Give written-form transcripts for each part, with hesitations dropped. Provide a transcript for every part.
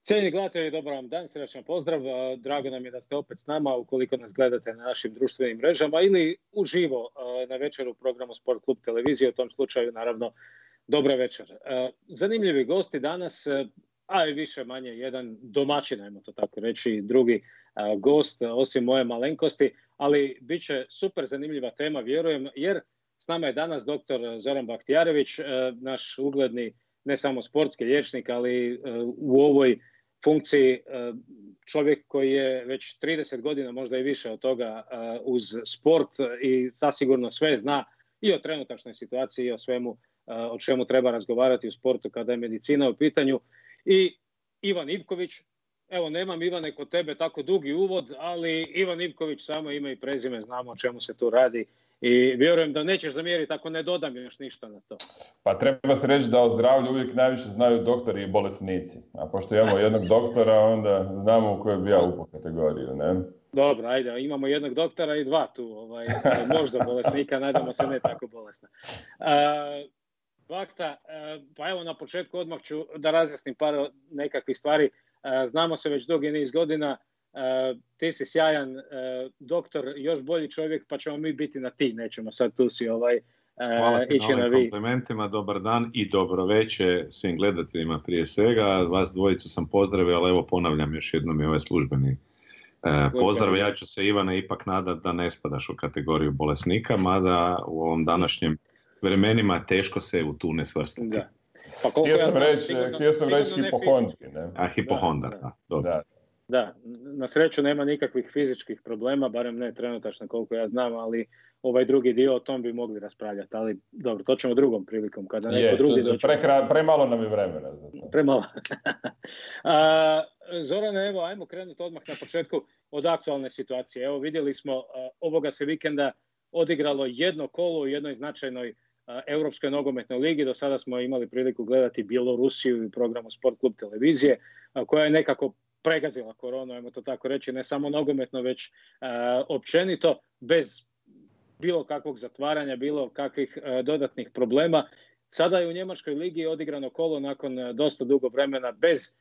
Cijenjeni gledatelji, dobar vam dan, srećan pozdrav. Drago nam je da ste opet s nama ukoliko nas gledate na našim društvenim mrežama ili uživo na večeru u programu Sport Klub televizije. U tom slučaju, naravno, dobra večer. Zanimljivi gosti danas, a i više manje jedan domaćin, ajmo to tako reći, drugi gost, osim moje malenkosti, ali bit će super zanimljiva tema, vjerujem, jer s nama je danas dr. Zoran Bahtijarević, naš ugledni ne samo sportski liječnik, ali u ovoj funkciji čovjek koji je već 30 godina, možda i više od toga, uz sport i zasigurno sve zna i o trenutačnoj situaciji i o svemu o čemu treba razgovarati u sportu kada je medicina u pitanju. I Ivan Ivković, evo nemam Ivane kod tebe tako dugi uvod, ali Ivan Ivković samo ime i prezime, znamo o čemu se tu radi. I vjerujem da nećeš zamjeriti ako ne dodam još ništa na to. Pa treba se reći da o zdravlju uvijek najviše znaju doktori i bolesnici. A pošto imamo jednog doktora, onda znamo u kojoj bi ja upao kategoriju, ne? Dobro, ajde, imamo jednog doktora i dva tu, možda bolesnika, nadamo se ne tako bolesna. Bakta, pa evo na početku odmah ću da razjasnim par nekakvih stvari. Znamo se već dugi niz godina, ti si sjajan doktor, još bolji čovjek, pa ćemo mi biti na ti, nećemo sad tu si Hvala ti ići na na ovim vi. komplimentima, dobar dan i dobro večer svim gledateljima prije svega. Vas dvojicu sam pozdravio, ali evo ponavljam još jednom i ovaj službeni pozdrav. Ja ću se, Ivane, ipak nadat da ne spadaš u kategoriju bolesnika, mada u ovom današnjem vremenima teško se u tu ne svrstati. Da. Pa htio sam reći hipohondri, ne? A hipohondar, da. Dobro. Da, na sreću nema nikakvih fizičkih problema, barem ne trenutačno koliko ja znam, ali ovaj drugi dio o tom bi mogli raspravljati, ali dobro, to ćemo drugom prilikom, kada neko drugi dođe. Premalo nam je vremena za to. Premalo. Zorane, evo, ajmo krenuti odmah na početku od aktualne situacije. Evo, vidjeli smo, ovoga se vikenda odigralo jedno kolo u jednoj značajnoj Europskoj nogometnoj ligi. Do sada smo imali priliku gledati Bjelorusiju u programu Sport Klub televizije, koja je nekako pregazila koronu, ajmo to tako reći, ne samo nogometno, već općenito, bez bilo kakvog zatvaranja, bilo kakvih dodatnih problema. Sada je u Njemačkoj ligi odigrano kolo nakon dosta dugo vremena bez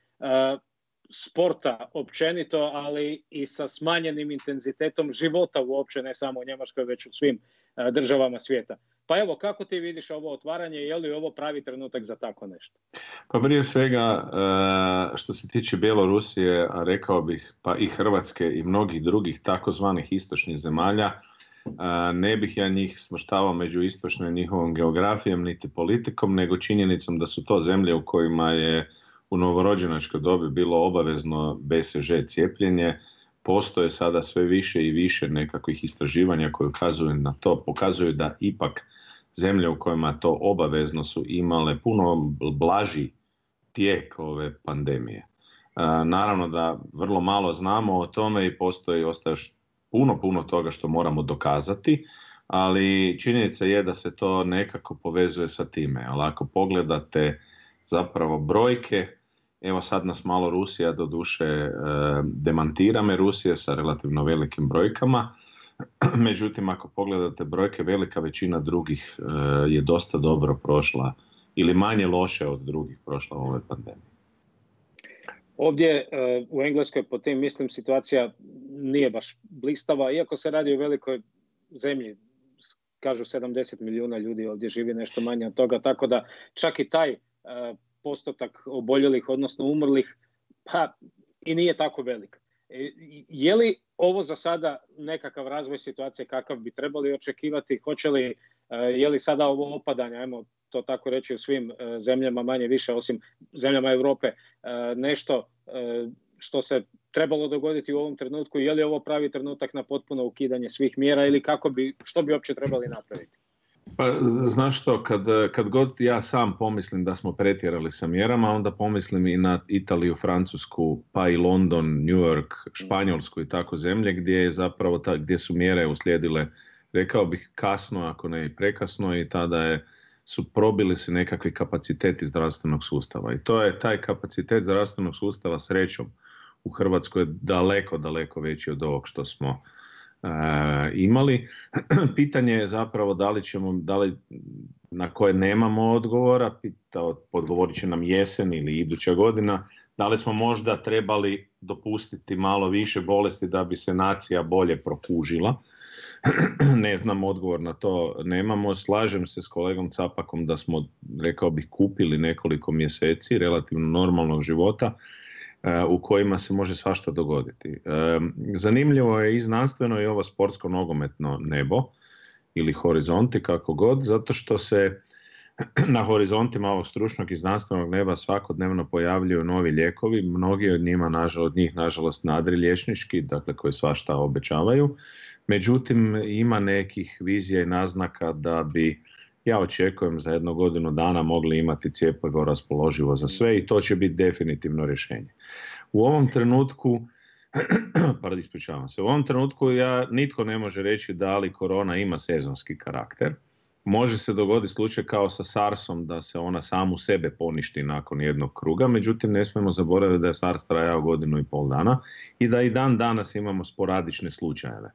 sporta općenito, ali i sa smanjenim intenzitetom života uopće, ne samo u Njemačkoj, već u svim državama svijeta. Pa evo, kako ti vidiš ovo otvaranje, je li ovo pravi trenutak za tako nešto? Pa prije svega, što se tiče Bjelorusije, a rekao bih pa i Hrvatske i mnogih drugih takozvanih istočnih zemalja, ne bih ja njih smrštavao među istočnom njihovom geografijom niti politikom, nego činjenicom da su to zemlje u kojima je u novorođenačkoj dobi bilo obavezno BCG cijepljenje. Postoje sada sve više i više nekakvih istraživanja koje ukazuju na to, pokazuju da ipak zemlje u kojima to obavezno su imale puno blaži tijek ove pandemije. Naravno da vrlo malo znamo o tome i ostaje još puno toga što moramo dokazati, ali činjenica je da se to nekako povezuje sa time. Ali ako pogledate zapravo brojke, evo sad nas malo Rusija doduše demantira me, Rusija sa relativno velikim brojkama, međutim ako pogledate brojke, velika većina drugih je dosta dobro prošla ili manje loše od drugih prošla u ovoj pandemiji. Ovdje u Engleskoj po tim mislim situacija nije baš blistava, iako se radi o velikoj zemlji, kažu 70 milijuna ljudi ovdje živi, nešto manje od toga, tako da čak i taj postotak oboljelih, odnosno umrlih, pa i nije tako velik. Je li ovo za sada nekakav razvoj situacije kakav bi trebali očekivati? Je li sada ovo opadanje, ajmo to tako reći, u svim zemljama manje više, osim zemljama Europe, nešto što se trebalo dogoditi u ovom trenutku? Je li ovo pravi trenutak na potpuno ukidanje svih mjera ili što bi uopće trebali napraviti? Pa znaš što, kad god ja sam pomislim da smo pretjerali sa mjerama, onda pomislim i na Italiju, Francusku, pa i London, New York, Španjolsku i tako zemlje gdje je zapravo gdje su mjere uslijedile, rekao bih, kasno, ako ne i prekasno, i tada su probili se nekakvi kapaciteti zdravstvenog sustava. I to je taj kapacitet zdravstvenog sustava, srećom, u Hrvatskoj je daleko veći od ovog što smo imali. Pitanje je zapravo da li na koje nemamo odgovora, odgovorit će nam jesen ili iduća godina, da li smo možda trebali dopustiti malo više bolesti da bi se nacija bolje prokužila. Ne znam, odgovor na to nemamo. Slažem se s kolegom Capakom da smo, rekao bih, kupili nekoliko mjeseci relativno normalnog života u kojima se može svašta dogoditi. Zanimljivo je i znanstveno i ovo sportsko nogometno nebo ili horizonti, kako god, zato što se na horizontima ovog stručnog i znanstvenog neba svakodnevno pojavljuju novi lijekovi, mnogi od njih nažalost nadriliječnički, dakle koji svašta obećavaju. Međutim, ima nekih vizija i naznaka da bi, ja očekujem, za 1 godinu dana mogli imati cjepivo raspoloživo za sve i to će biti definitivno rješenje. U ovom trenutku, nitko ne može reći da li korona ima sezonski karakter. Može se dogoditi slučaj kao sa SARS-om da se ona samu sebe poništi nakon jednog kruga, međutim ne smijemo zaboraviti da je SARS trajao 1,5 dana i da i dan danas imamo sporadične slučajeve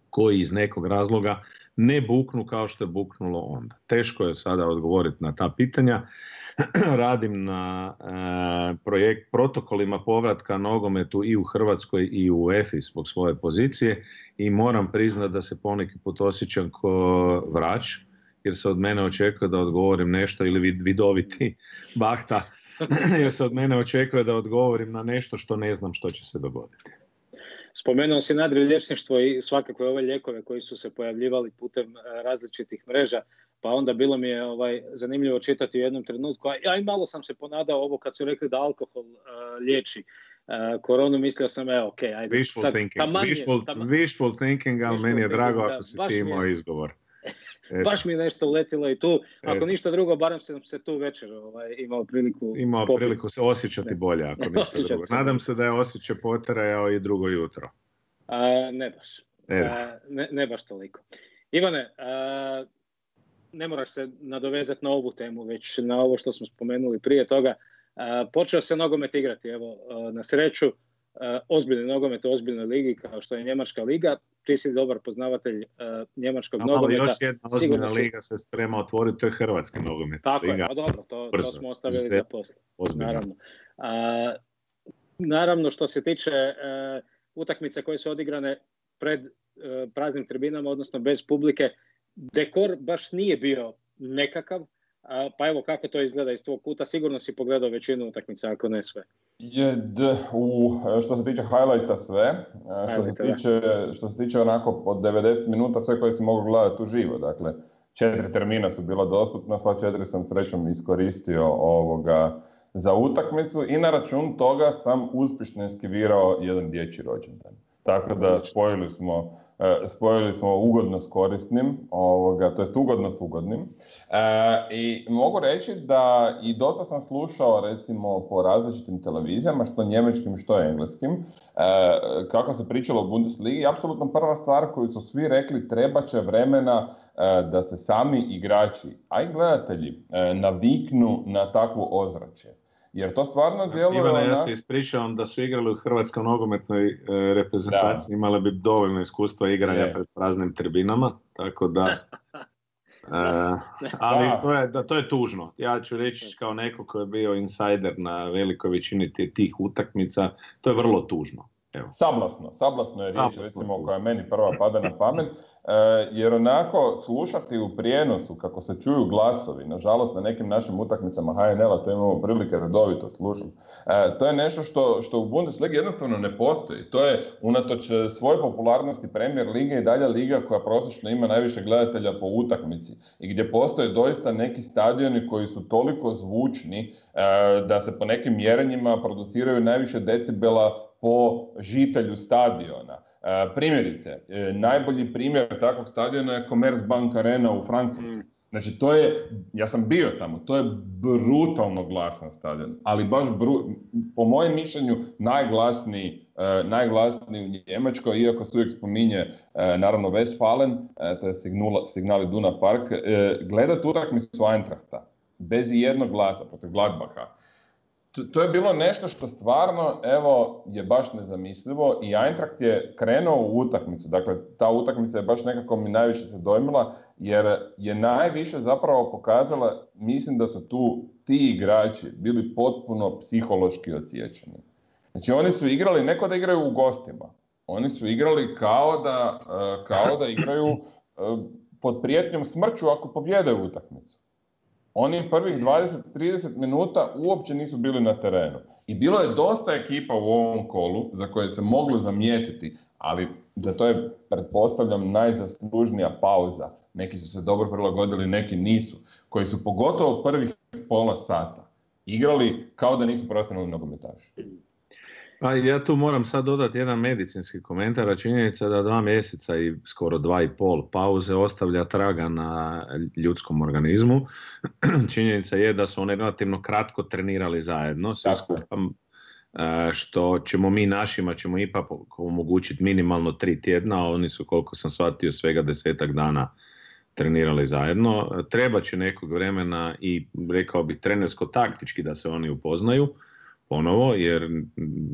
koji iz nekog razloga ne buknu kao što je buknulo onda. Teško je sada odgovoriti na ta pitanja. Radim na protokolima povratka nogometu i u Hrvatskoj i u UEFA zbog svoje pozicije i moram priznati da se poneki put osjećam ko vrač, jer se od mene očekuje da odgovorim nešto, ili vidoviti Bahta, jer se od mene očekuje da odgovorim na nešto što ne znam što će se dogoditi. Spomenuo si nadriliječništvo i svakako ove lijekove koji su se pojavljivali putem različitih mreža, pa onda bilo mi je zanimljivo čitati u jednom trenutku, a i malo sam se ponadao ovo kad su rekli da alkohol liječi koronu, mislio sam, ajde. Wishful thinking, ali meni je drago ako si ti imao izgovor. Baš mi je nešto uletilo i tu, ako ništa drugo, barem sam se tu večer imao priliku se osjećati bolje, ako ništa drugo. Nadam se da je osjećaj potrajao i drugo jutro. Ne baš. Ne baš toliko. Ivane, ne moraš se nadovezati na ovu temu, već na ovo što smo spomenuli prije toga. Počeo se nogomet igrati, evo, na sreću, ozbiljni nogomet u ozbiljnoj ligi kao što je Njemačka liga. Ti si dobar poznavatelj njemačkog nogometa. Još jedna ozbiljna liga se sprema otvoriti, to je hrvatski nogomet. Tako liga. Je, dobro, to smo ostavili za poslije. Naravno. Naravno, što se tiče utakmice koje su odigrane pred praznim tribinama, odnosno bez publike, dekor baš nije bio nekakav. Pa evo, kako to izgleda iz tvog kuta? Sigurno si pogledao većinu utakmica, ako ne sve. Što se tiče highlighta sve, što se tiče onako od 90 minuta sve koje si mogu gledati uživo. Dakle, 4 termina su bila dostupna, sva 4 sam srećom iskoristio za utakmicu i na račun toga sam uspješno eskivirao jedan dječji rođendan. Tako da spojili smo ugodno s korisnim, to jest ugodno s ugodnim. I mogu reći da i dosta sam slušao recimo po različitim televizijama, što njemačkim, što engleskim, kako se pričalo o Bundesligi. Apsolutno prva stvar koju su svi rekli, treba će vremena da se sami igrači, a i gledatelji, naviknu na takvo ozračje. Jer to stvarno djeluje... Ivane, ja se ispričavam da su igrali u hrvatskoj nogometnoj reprezentaciji, imali bi dovoljno iskustva igranja pred praznim tribinama, tako da... ali to je tužno. Ja ću reći kao neko koji je bio insider na velikoj većini tih utakmica, to je vrlo tužno. Evo. Sablasno je riječ, recimo, koja meni prva pada na pamet, jer onako slušati u prijenosu kako se čuju glasovi, nažalost na nekim našim utakmicama HNL-a to imamo prilike redovito slušati, to je nešto što u Bundesligi jednostavno ne postoji. To je unatoč svoje popularnosti Premier lige i dalje liga koja prosječno ima najviše gledatelja po utakmici i gdje postoje doista neki stadioni koji su toliko zvučni da se po nekim mjerenjima produciraju najviše decibela po žitelju stadiona. Primjerice, najbolji primjer takvog stadiona je Commerzbank Arena u Frankfurtu. Znači, ja sam bio tamo, to je brutalno glasan stadion, ali baš po mojem mišljenju najglasniji u Njemačkoj, iako se uvijek spominje naravno Westfalen, to je Signal Iduna Park, gledati utakmicu Eintrachta bez jednog glasa protiv Gladbacha. to je bilo nešto što stvarno, evo, je baš nezamislivo i Eintracht je krenuo u utakmicu. Dakle, ta utakmica je baš nekako mi najviše se dojmila, jer je najviše zapravo pokazala, mislim da su tu ti igrači bili potpuno psihološki odsječeni. Znači, oni su igrali, neko da igraju u gostima, oni su igrali kao da igraju pod prijetnjom smrću ako pobjedaju utakmicu. Oni prvih 20-30 minuta uopće nisu bili na terenu. I bilo je dosta ekipa u ovom kolu za koje se moglo zamijetiti, ali za to je, pretpostavljam, najzaslužnija pauza. Neki su se dobro prilagodili, neki nisu. Koji su pogotovo prvih pola sata igrali kao da nisu profesionalni nogometaši. Pa ja tu moram sad dodati jedan medicinski komentar, a činjenica da 2 mjeseca i skoro 2,5 pauze ostavlja traga na ljudskom organizmu. Činjenica je da su oni relativno kratko trenirali zajedno, svi skupa, što ćemo mi našima ćemo ipak omogućiti minimalno 3 tjedna, a oni su, koliko sam shvatio, svega 10-ak dana trenirali zajedno. Treba će nekog vremena i, rekao bih, trenersko-taktički da se oni upoznaju ponovo, jer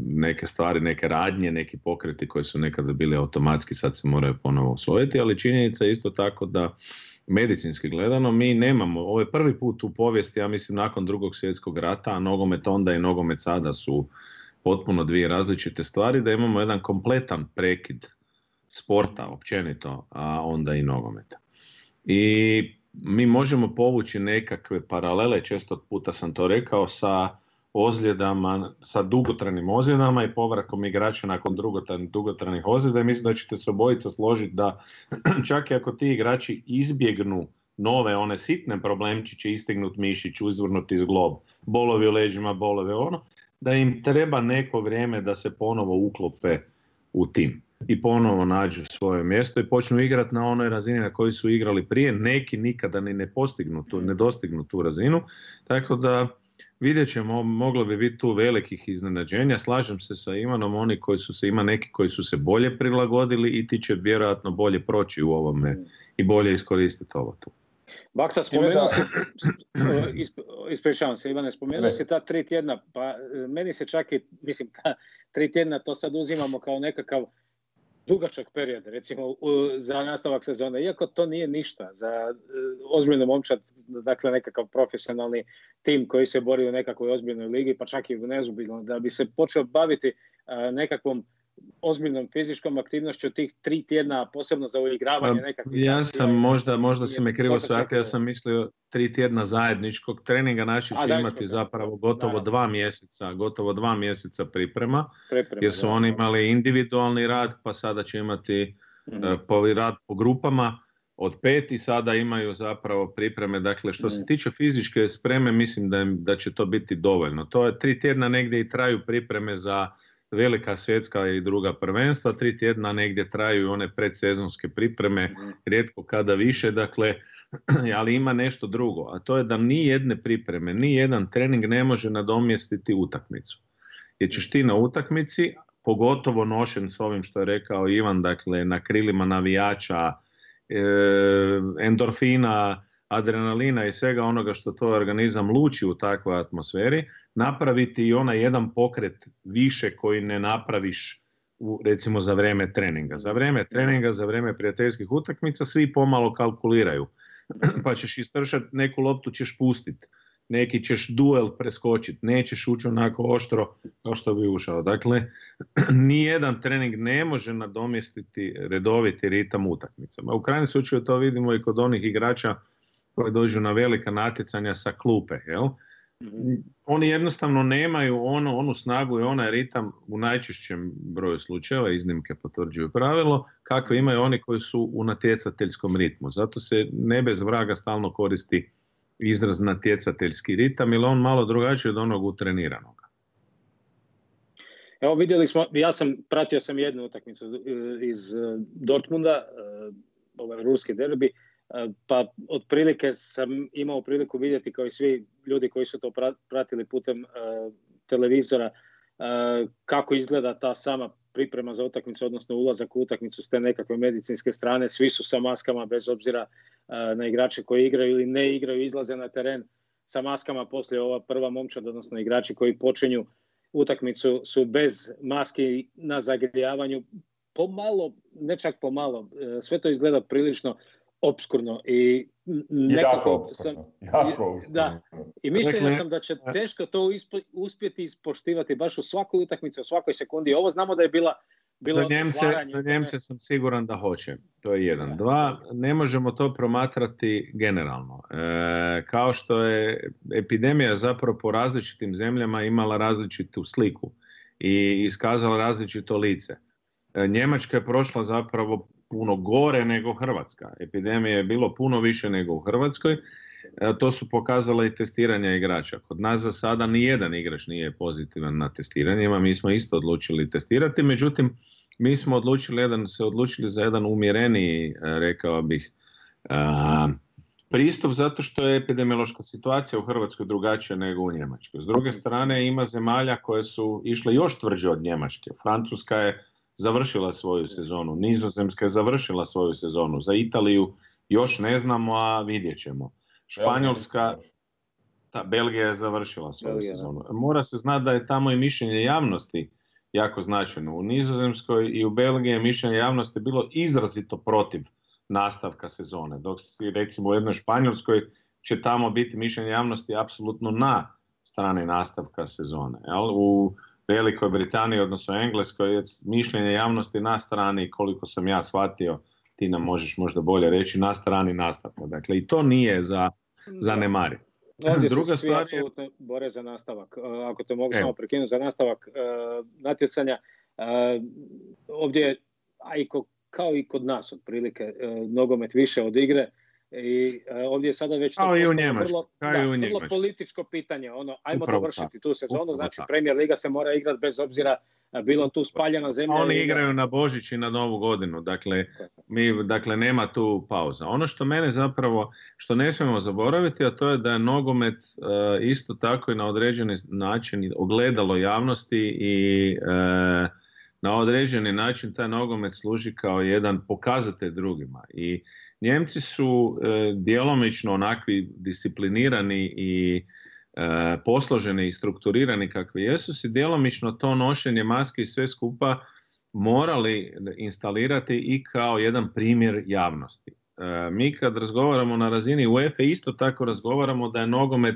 neke stvari, neke radnje, neki pokreti koji su nekada bili automatski sad se moraju ponovo usvojiti, ali činjenica je isto tako da medicinski gledano mi nemamo, ovo je prvi put u povijesti, ja mislim nakon Drugog svjetskog rata, a nogomet onda i nogomet sada su potpuno dvije različite stvari, da imamo jedan kompletan prekid sporta općenito, a onda i nogometa. I mi možemo povući nekakve paralele, često puta sam to rekao, sa ozljedama, sa dugotrajnim ozljedama i povratkom igrača nakon dugotrajnih ozljeda, i mislim da ćete se obojica složiti da čak i ako ti igrači izbjegnu nove one sitne problemčiće, istignut mišić, uzvrnuti zglob, bolovi u leđima, bolovi da im treba neko vrijeme da se ponovo uklope u tim i ponovo nađu svoje mjesto i počnu igrati na onoj razini na kojoj su igrali prije. Neki nikada ni ne dostignu tu razinu, tako da vidjet ćemo, moglo bi biti tu velikih iznenađenja. Slažem se sa Ivanom, oni koji su se, ima neki koji su se bolje prilagodili i ti će vjerojatno bolje proći u ovome i bolje iskoristiti ovo tu. Baksa, spomenuo si, ispričavam se Ivane, spomenuo si ta 3 tjedna, pa meni se čak i, mislim, ta 3 tjedna to sad uzimamo kao nekakav dugačak period, recimo za nastavak sezone, iako to nije ništa za ozbiljnu momčad, dakle nekakav profesionalni tim koji se bori u nekakvoj ozbiljnoj ligi, pa čak i u nezubidno, da bi se počeo baviti nekakvom ozbiljnom fizičkom aktivnošću tih 3 tjedna, posebno za uigravanje nekakvih... Ja sam, možda si me krivo shvatio, ja sam mislio 3 tjedna zajedničkog treninga, naši će imati zapravo gotovo 2 mjeseca priprema, jer su oni imali individualni rad, pa sada će imati rad po grupama od 5 i sada imaju zapravo pripreme. Dakle, što se tiče fizičke spreme, mislim da će to biti dovoljno. To je 3 tjedna negdje i traju pripreme za velika svjetska i druga prvenstva, 3 tjedna negdje traju one predsezonske pripreme, rijetko kada više, dakle, ali ima nešto drugo, a to je da ni jedne pripreme, ni jedan trening ne može nadomjestiti utakmicu. Jer ćeš ti na utakmici, pogotovo nošen s ovim što je rekao Ivan, dakle, na krilima navijača, endorfina, adrenalina i svega onoga što tvoj organizam luči u takvoj atmosferi, napraviti i onaj jedan pokret više koji ne napraviš recimo za vrijeme treninga. Za vrijeme treninga, za vrijeme prijateljskih utakmica svi pomalo kalkuliraju. Pa ćeš istršati, neku loptu ćeš pustiti, neki ćeš duel preskočiti, nećeš ući onako oštro kao što bi ušao. Dakle, nijedan trening ne može nadomjestiti redoviti ritam utakmicama. U krajnjem slučaju to vidimo i kod onih igrača koji dođu na velika natjecanja sa klupe, jel? Oni jednostavno nemaju onu snagu i onaj ritam u najčešćem broju slučajeva, iznimke potvrđuju pravilo, kakve imaju oni koji su u natjecateljskom ritmu. Zato se ne bez vraga stalno koristi izraz natjecateljski ritam, jer on malo drugačiji od onog utreniranog. Evo vidjeli smo, pratio sam jednu utakmicu iz Dortmunda, ovaj ruski derbi, pa otprilike sam imao priliku vidjeti, kao i svi ljudi koji su to pratili putem televizora, kako izgleda ta sama priprema za utakmicu, odnosno ulazak u utakmicu s te nekakve medicinske strane. Svi su sa maskama bez obzira na igrače koji igraju ili ne igraju, izlaze na teren sa maskama, poslije ova prva momčad, odnosno igrači koji počinju utakmicu su bez maski na zagrijavanju. Pomalo, ne čak pomalo, sve to izgleda prilično opskurno i nekako jako obskurno. Da, i mišljenja sam da će teško to uspjeti ispoštivati baš u svakoj utakmici, u svakoj sekundi. Ovo znamo da je bilo za Njemce sam siguran da hoće. To je jedan. Dva, ne možemo to promatrati generalno. Kao što je epidemija zapravo po različitim zemljama imala različitu sliku i iskazala različito lice. Njemačka je prošla zapravo puno gore nego Hrvatska. Epidemije je bilo puno više nego u Hrvatskoj. To su pokazala i testiranja igrača. Kod nas za sada nijedan igrač nije pozitivan na testiranjima. Mi smo isto odlučili testirati, međutim mi smo se odlučili za jedan umjereniji, rekao bih, pristup zato što je epidemiološka situacija u Hrvatskoj drugačija nego u Njemačkoj. S druge strane ima zemalja koje su išle još tvrđe od Njemačke. Francuska je završila svoju sezonu, Nizozemska je završila svoju sezonu, za Italiju još ne znamo, a vidjet ćemo. Španjolska, Belgija je završila svoju sezonu. Mora se znati da je tamo i mišljenje javnosti jako značajno. U Nizozemskoj i u Belgiji je mišljenje javnosti bilo izrazito protiv nastavka sezone, dok recimo u jednoj Španjolskoj će tamo biti mišljenje javnosti apsolutno na strani nastavka sezone. U Velikoj Britaniji, odnosno Engleskoj, je mišljenje javnosti na strani, koliko sam ja shvatio, ti nam možeš možda bolje reći, na strani nastavka. Dakle, i to nije za zanemariti. Ovdje druga se svi apsolutno bore za nastavak. Ako te mogu samo prekinuti, za nastavak natjecanja. Ovdje, kao i kod nas otprilike, nogomet više od igre. I ovdje je sada već vrlo političko pitanje. Ajmo dovršiti tu sezonu, znači Premier Liga se mora igrati bez obzira bilo tu spaljena zemlja. Oni igraju na Božić i na Novu godinu, dakle nema tu pauza. Ono što mene zapravo, što ne smijemo zaboraviti, a to je da je nogomet isto tako i na određeni način ogledalo javnosti i na određeni način taj nogomet služi kao jedan pokazatelj drugima. I Njemci su djelomično onakvi disciplinirani i posloženi i strukturirani kakvi jesu, si djelomično to nošenje maske i sve skupa morali instalirati i kao jedan primjer javnosti. Mi kad razgovaramo na razini UEFA isto tako razgovaramo da je nogomet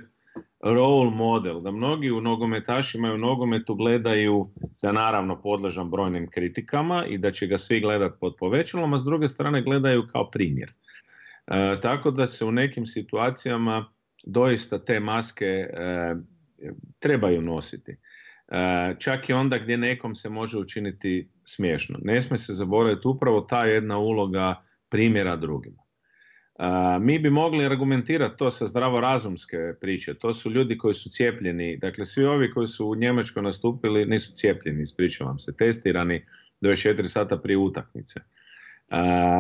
role model, da mnogi u nogometašima i u nogometu gledaju, da naravno podležan brojnim kritikama i da će ga svi gledati pod povećalom, a s druge strane gledaju kao primjer. Tako da se u nekim situacijama doista te maske trebaju nositi. Čak i onda gdje nekom se može učiniti smiješno. Ne smije se zaboraviti upravo ta jedna uloga primjera drugima. Mi bi mogli argumentirati to sa zdravorazumske priče. To su ljudi koji su cijepljeni. Dakle, svi ovi koji su u Njemačkoj nastupili nisu cijepljeni, ispričavam se, testirani 24 sata prije utakmice.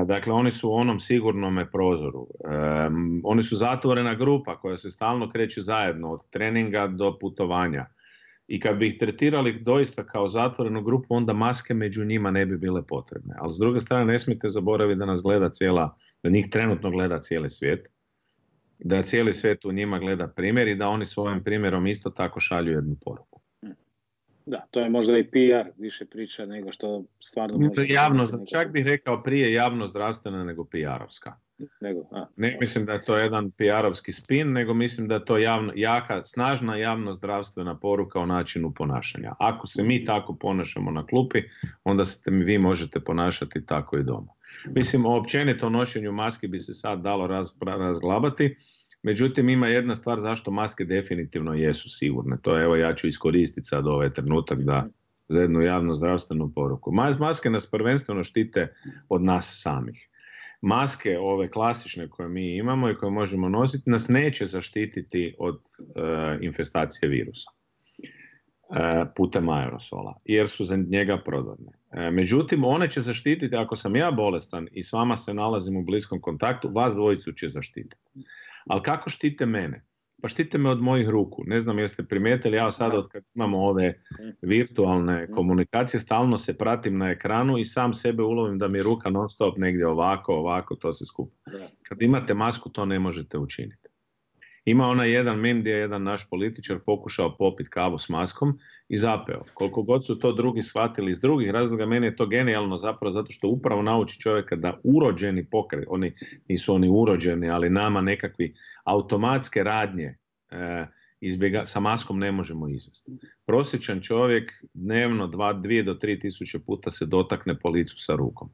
Dakle, oni su u onom sigurnome prozoru. Oni su zatvorena grupa koja se stalno kreće zajedno od treninga do putovanja. I kad bi ih tretirali doista kao zatvorenu grupu, onda maske među njima ne bi bile potrebne. Ali s druge strane, ne smijete zaboraviti da nas gleda da njih trenutno gleda cijeli svijet, da cijeli svijet u njima gleda primjer i da oni svojim primjerom isto tako šalju jednu poruku. Da, to je možda i PR više priča nego što stvarno može... Čak bih rekao prije javno-zdravstvena nego PR-ovska. Ne mislim da je to jedan PR-ovski spin, nego mislim da je to jaka, snažna javno-zdravstvena poruka o načinu ponašanja. Ako se mi tako ponašamo na klupi, onda se vi možete ponašati tako i doma. Mislim, o općenito nošenju maski bi se sad dalo razglabati, međutim ima jedna stvar zašto maske definitivno jesu sigurne. To je, evo ja ću iskoristiti sad ovaj trenutak za jednu javno-zdravstvenu poruku. Maske nas prvenstveno štite od nas samih. Maske ove klasične koje mi imamo i koje možemo nositi nas neće zaštititi od infestacije virusa putem aerosola, jer su za njega prodorne. Međutim, one će zaštititi, ako sam ja bolestan i s vama se nalazim u bliskom kontaktu, vas dvojicu će zaštititi. Ali kako štite mene? Pa štite me od mojih ruku. Ne znam jeste primijetili, ja sad od kad imamo ove virtualne komunikacije, stalno se pratim na ekranu i sam sebe ulovim da mi je ruka non stop negdje ovako, to se skupa. Kad imate masku, to ne možete učiniti. Ima onaj jedan mem gdje je jedan naš političar pokušao popiti kavu s maskom i zapeo. Koliko god su to drugi shvatili iz drugih razloga, meni je to genijalno zapravo zato što upravo nauči čovjeka da urođeni pokret, nisu oni urođeni, ali nama nekakvi automatske radnje sa maskom ne možemo izvesti. Prosječan čovjek dnevno 2 do 3 tisuće puta se dotakne po licu sa rukom.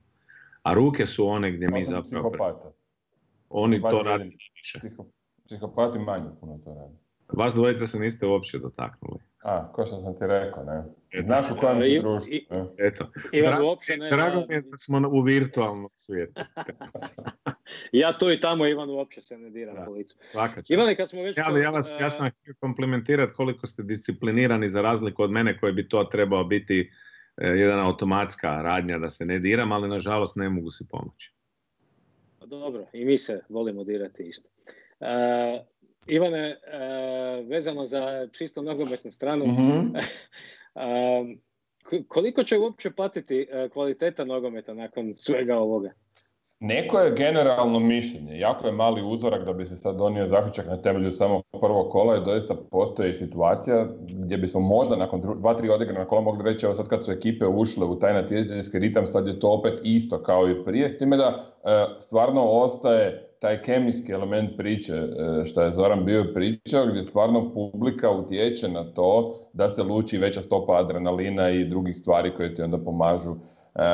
A ruke su one gdje mi zapravo... Oni to radi više. Psihopati manje puno to radi. Vas dvojica se niste uopće dotaknuli. Ko što sam ti rekao, ne? Znaš u kojem si društvu. Eto. Drago mi je da smo u virtualnom svijetu. Ja to i tamo, Ivan, uopće se ne diram po licu. Ivane, kad smo već... Ja sam htio komplimentirati koliko ste disciplinirani za razliku od mene koji bi to trebao biti jedna automatska radnja da se ne diram, ali nažalost ne mogu si pomoći. Dobro, i mi se volimo dirati isto. Ivane, vezano za čisto nogometnu stranu, koliko će uopće patiti kvaliteta nogometa nakon svega ovoga? Neko je generalno mišljenje, jako je mali uzorak da bi se sad donio zaključak na temelju samo prvog kola i doista postoji situacija gdje bismo možda nakon 2-3 odigrana kola mogli reći evo sad kad su ekipe ušle u taj natjecateljski ritam sad je to opet isto kao i prije, s time da stvarno ostaje taj kemijski element priče što je Zoran bio pričao gdje stvarno publika utječe na to da se luči veća stopa adrenalina i drugih stvari koje ti onda pomažu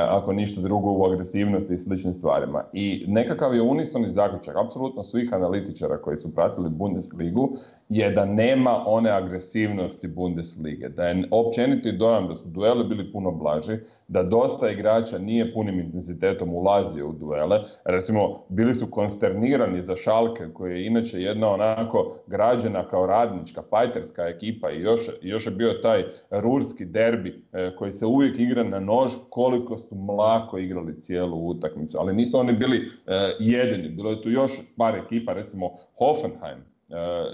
ako ništa drugo u agresivnosti i sličnim stvarima. I nekakav je unisoni zaključak, apsolutno svih analitičara koji su pratili Bundesligu, je da nema one agresivnosti Bundeslige, da je općeniti dojam da su dueli bili puno blaži, da dosta igrača nije punim intenzitetom ulazio u duele. Recimo, bili su konsternirani za Schalke, koji je inače jedna onako građena kao radnička, fajterska ekipa i još je bio taj rurski derbi koji se uvijek igra na nož, koliko su mlako igrali cijelu utakmicu. Ali nisu oni bili jedini, bilo je tu još par ekipa, recimo Hoffenheim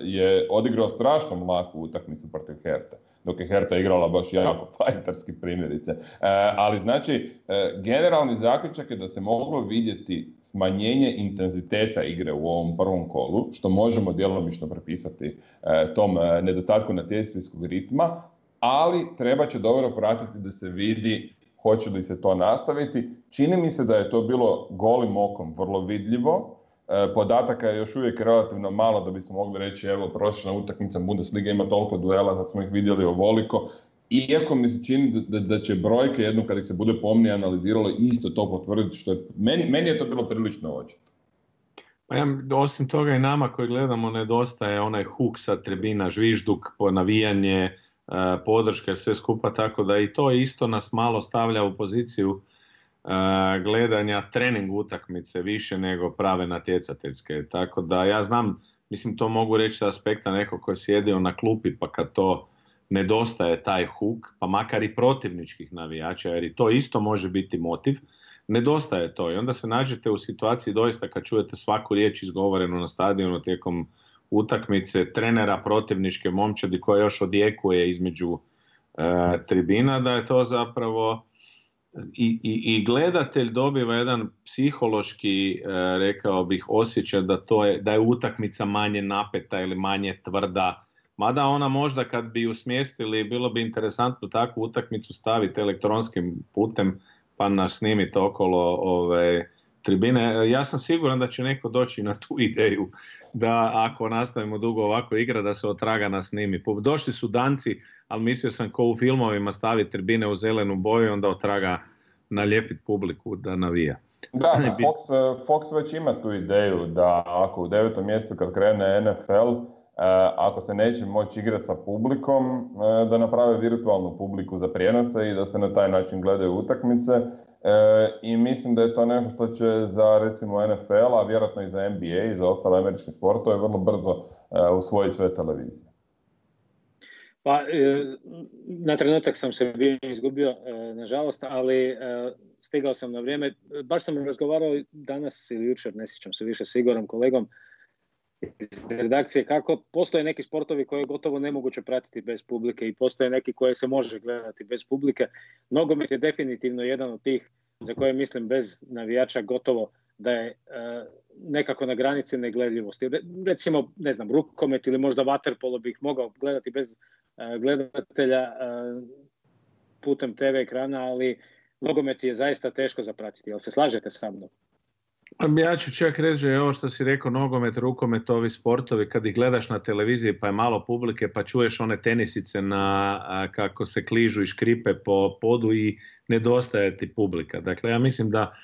je odigrao strašno mlaku utakmicu protiv Hertha, dok je Hertha igrala baš jako fajterski primjerice. Ali znači, generalni zaključak je da se moglo vidjeti smanjenje intenziteta igre u ovom prvom kolu, što možemo djelomično prepisati tom nedostatku natjecateljskog ritma, ali treba će dobro pratiti da se vidi hoće li se to nastaviti. Čini mi se da je to bilo golim okom vrlo vidljivo. Podataka je još uvijek relativno malo da bismo mogli reći evo prosječna utakmica Bundesliga ima toliko duela, sad smo ih vidjeli ovoliko. Iako mi se čini da će brojke jednom kada ih se bude pomnije analiziralo isto to potvrditi, što je, meni je to bilo prilično očito. Pa osim toga i nama koji gledamo nedostaje onaj huk sa tribina, žvižduk, navijanje, podrške, sve skupa, tako da i to isto nas malo stavlja u poziciju gledanja trening utakmice više nego prave natjecateljske. Tako da ja znam, mislim to mogu reći sa aspekta nekog koji je sjedio na klupi pa kad to nedostaje taj huk, pa makar i protivničkih navijača, jer i to isto može biti motiv, nedostaje to i onda se nađete u situaciji doista kad čujete svaku riječ izgovorenu na stadionu tijekom utakmice trenera protivničke momčadi koja još odjekuje između tribina, da je to zapravo i gledatelj dobiva jedan psihološki, rekao bih, osjećaj da je utakmica manje napeta ili manje tvrda. Mada ona možda kad bi ju smjestili, bilo bi interesantno takvu utakmicu staviti elektronskim putem pa nas snimiti okolo tribine. Ja sam siguran da će neko doći na tu ideju da ako nastavimo dugo ovako igra da se otraga nas snimi. Došli su Danci, ali mislio sam ko u filmovima staviti tribine u zelenu boju i onda otraga nalijepiti publiku da navija. Da, Fox već ima tu ideju da ako u 9. mjesecu kad krene NFL, ako se neće moći igrati sa publikom, da naprave virtualnu publiku za prijenose i da se na taj način gledaju utakmice. I mislim da je to nešto što će za recimo NFL, a vjerojatno i za NBA i za ostale američke sportove vrlo brzo usvojiti sve televizije. Pa, na trenutak sam se bio izgubio, nažalost, ali stigao sam na vrijeme. Baš sam razgovarao danas ili jučer, ne sjećam se više, s Igorom, kolegom iz redakcije, kako postoje neki sportovi koje je gotovo nemoguće pratiti bez publike i postoje neki koje se može gledati bez publike. Nogomet je definitivno jedan od tih za koje mislim bez navijača gotovo da je nekako na granici negledljivosti. Recimo, ne znam, rukomet ili možda vaterpolo bih mogao gledati bez gledatelja putem TV ekrana, ali nogomet je zaista teško zapratiti. Jel se slažete sa mnom? Ja ću čak reći, ovo što si rekao, nogomet, rukomet, ovi sportovi, kad ih gledaš na televiziji pa je malo publike, pa čuješ one tenisice kako se kližu i škripe po podu i nedostaje ti publika. Dakle, ja mislim da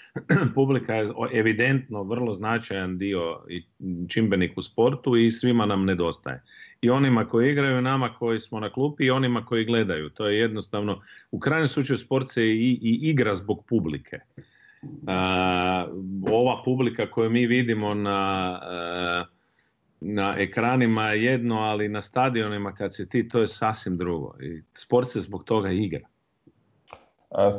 publika je evidentno vrlo značajan dio i čimbenik u sportu i svima nam nedostaje. I onima koji igraju, nama koji smo na klupi i onima koji gledaju. To je jednostavno, u krajnjem slučaju sport se i igra zbog publike. Ova publika koju mi vidimo na ekranima je jedno, ali na stadionima kad si ti, to je sasvim drugo. I sport se zbog toga igra.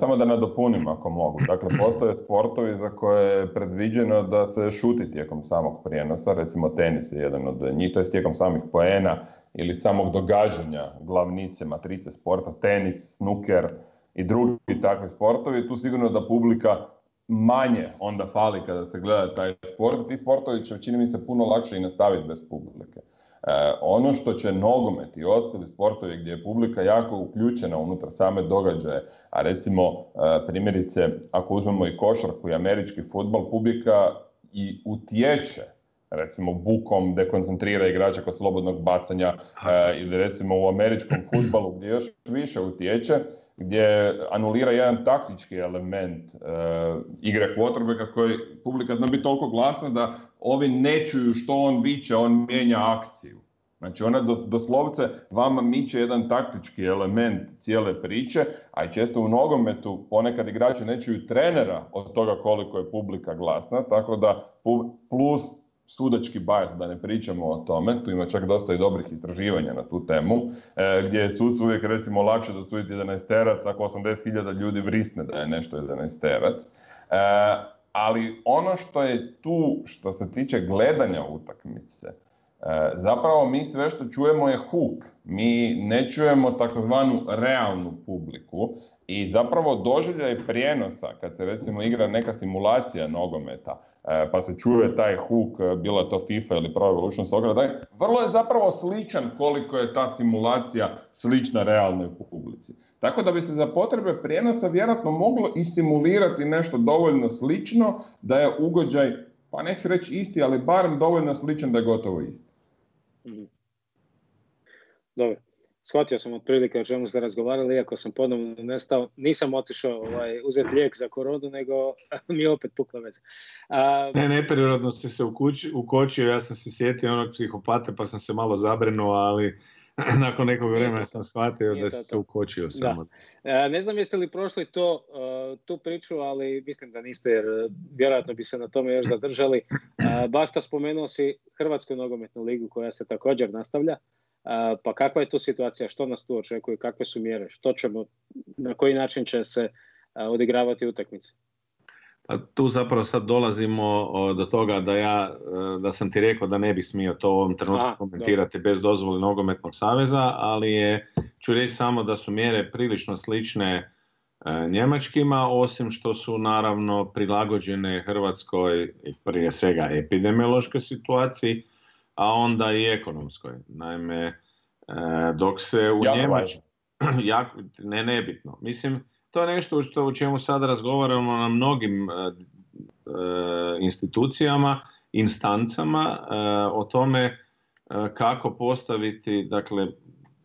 Samo da nadopunim ako mogu. Dakle, postoje sportovi za koje je predviđeno da se šuti tijekom samog prijenosa. Recimo tenis je jedan od njih, to je tijekom samih poena ili samog događanja, glavnice, matrice sporta, tenis, snuker i drugi takvi sportovi. Tu sigurno da publika manje onda fali kada se gleda taj sport. Ti sportovi će, čini mi se, puno lakše i nastaviti bez publike. Ono što će nogomet i ostali sportovi gdje je publika jako uključena unutar same događaje, a recimo primjerice ako uzmemo i košarku i američki fudbal, publika i utječe, recimo bukom dekoncentrira igrača kod slobodnog bacanja ili recimo u američkom fudbalu gdje još više utječe, gdje anulira jedan taktički element igre quarterbacka koji publika zna biti toliko glasna da ovi ne čuju što on viče, on mijenja akciju. Znači ona doslovce vama miče jedan taktički element cijele priče, a i često u nogometu ponekad igrači ne čuju trenera od toga koliko je publika glasna, tako da plus sudački bias, da ne pričamo o tome, tu ima čak dosta i dobrih istraživanja na tu temu, gdje je sudcu uvijek recimo lakše dosuditi 11-terac ako 80.000 ljudi vrisne da je nešto 11-terac. Ali ono što je tu, što se tiče gledanja utakmice, zapravo mi sve što čujemo je huk. Mi ne čujemo takozvanu realnu publiku i zapravo doživljaj prijenosa kad se recimo igra neka simulacija nogometa pa se čuje taj huk, bila to FIFA ili Pro Evolution Soccer, vrlo je zapravo sličan koliko je ta simulacija slična realnoj publici. Tako da bi se za potrebe prijenosa vjerojatno moglo i simulirati nešto dovoljno slično da je ugođaj, pa neću reći isti, ali barem dovoljno sličan da je gotovo isti. Dobro, shvatio sam otprilike o čemu ste razgovarali, iako sam ponovno nestao. Nisam otišao uzeti lijek za koronu, nego mi je opet pukla veza. Neprirodno si se ukočio, ja sam se sjetio onog psihopata pa sam se malo zabrinuo, ali nakon nekog vremena sam shvatio da si se ukočio samo. Ne znam jeste li prošli tu priču, ali mislim da niste, jer vjerojatno bi se na tome još zadržali. Bahta, spomenuo si Hrvatsku nogometnu ligu koja se također nastavlja. Pa kakva je tu situacija, što nas tu očekuje, kakve su mjere, na koji način će se odigravati utakmice? Pa tu zapravo sad dolazimo do toga da sam ti rekao da ne bih smio to u ovom trenutku komentirati bez dozvole Nogometnog saveza, ali ću reći samo da su mjere prilično slične njemačkima, osim što su naravno prilagođene Hrvatskoj prije svega epidemiološkoj situaciji, a onda i ekonomskoj. Naime, dok se u Njemačkoj... nebitno. Mislim, to je nešto u čemu sad razgovaramo na mnogim institucijama, instancama, o tome kako postaviti, dakle,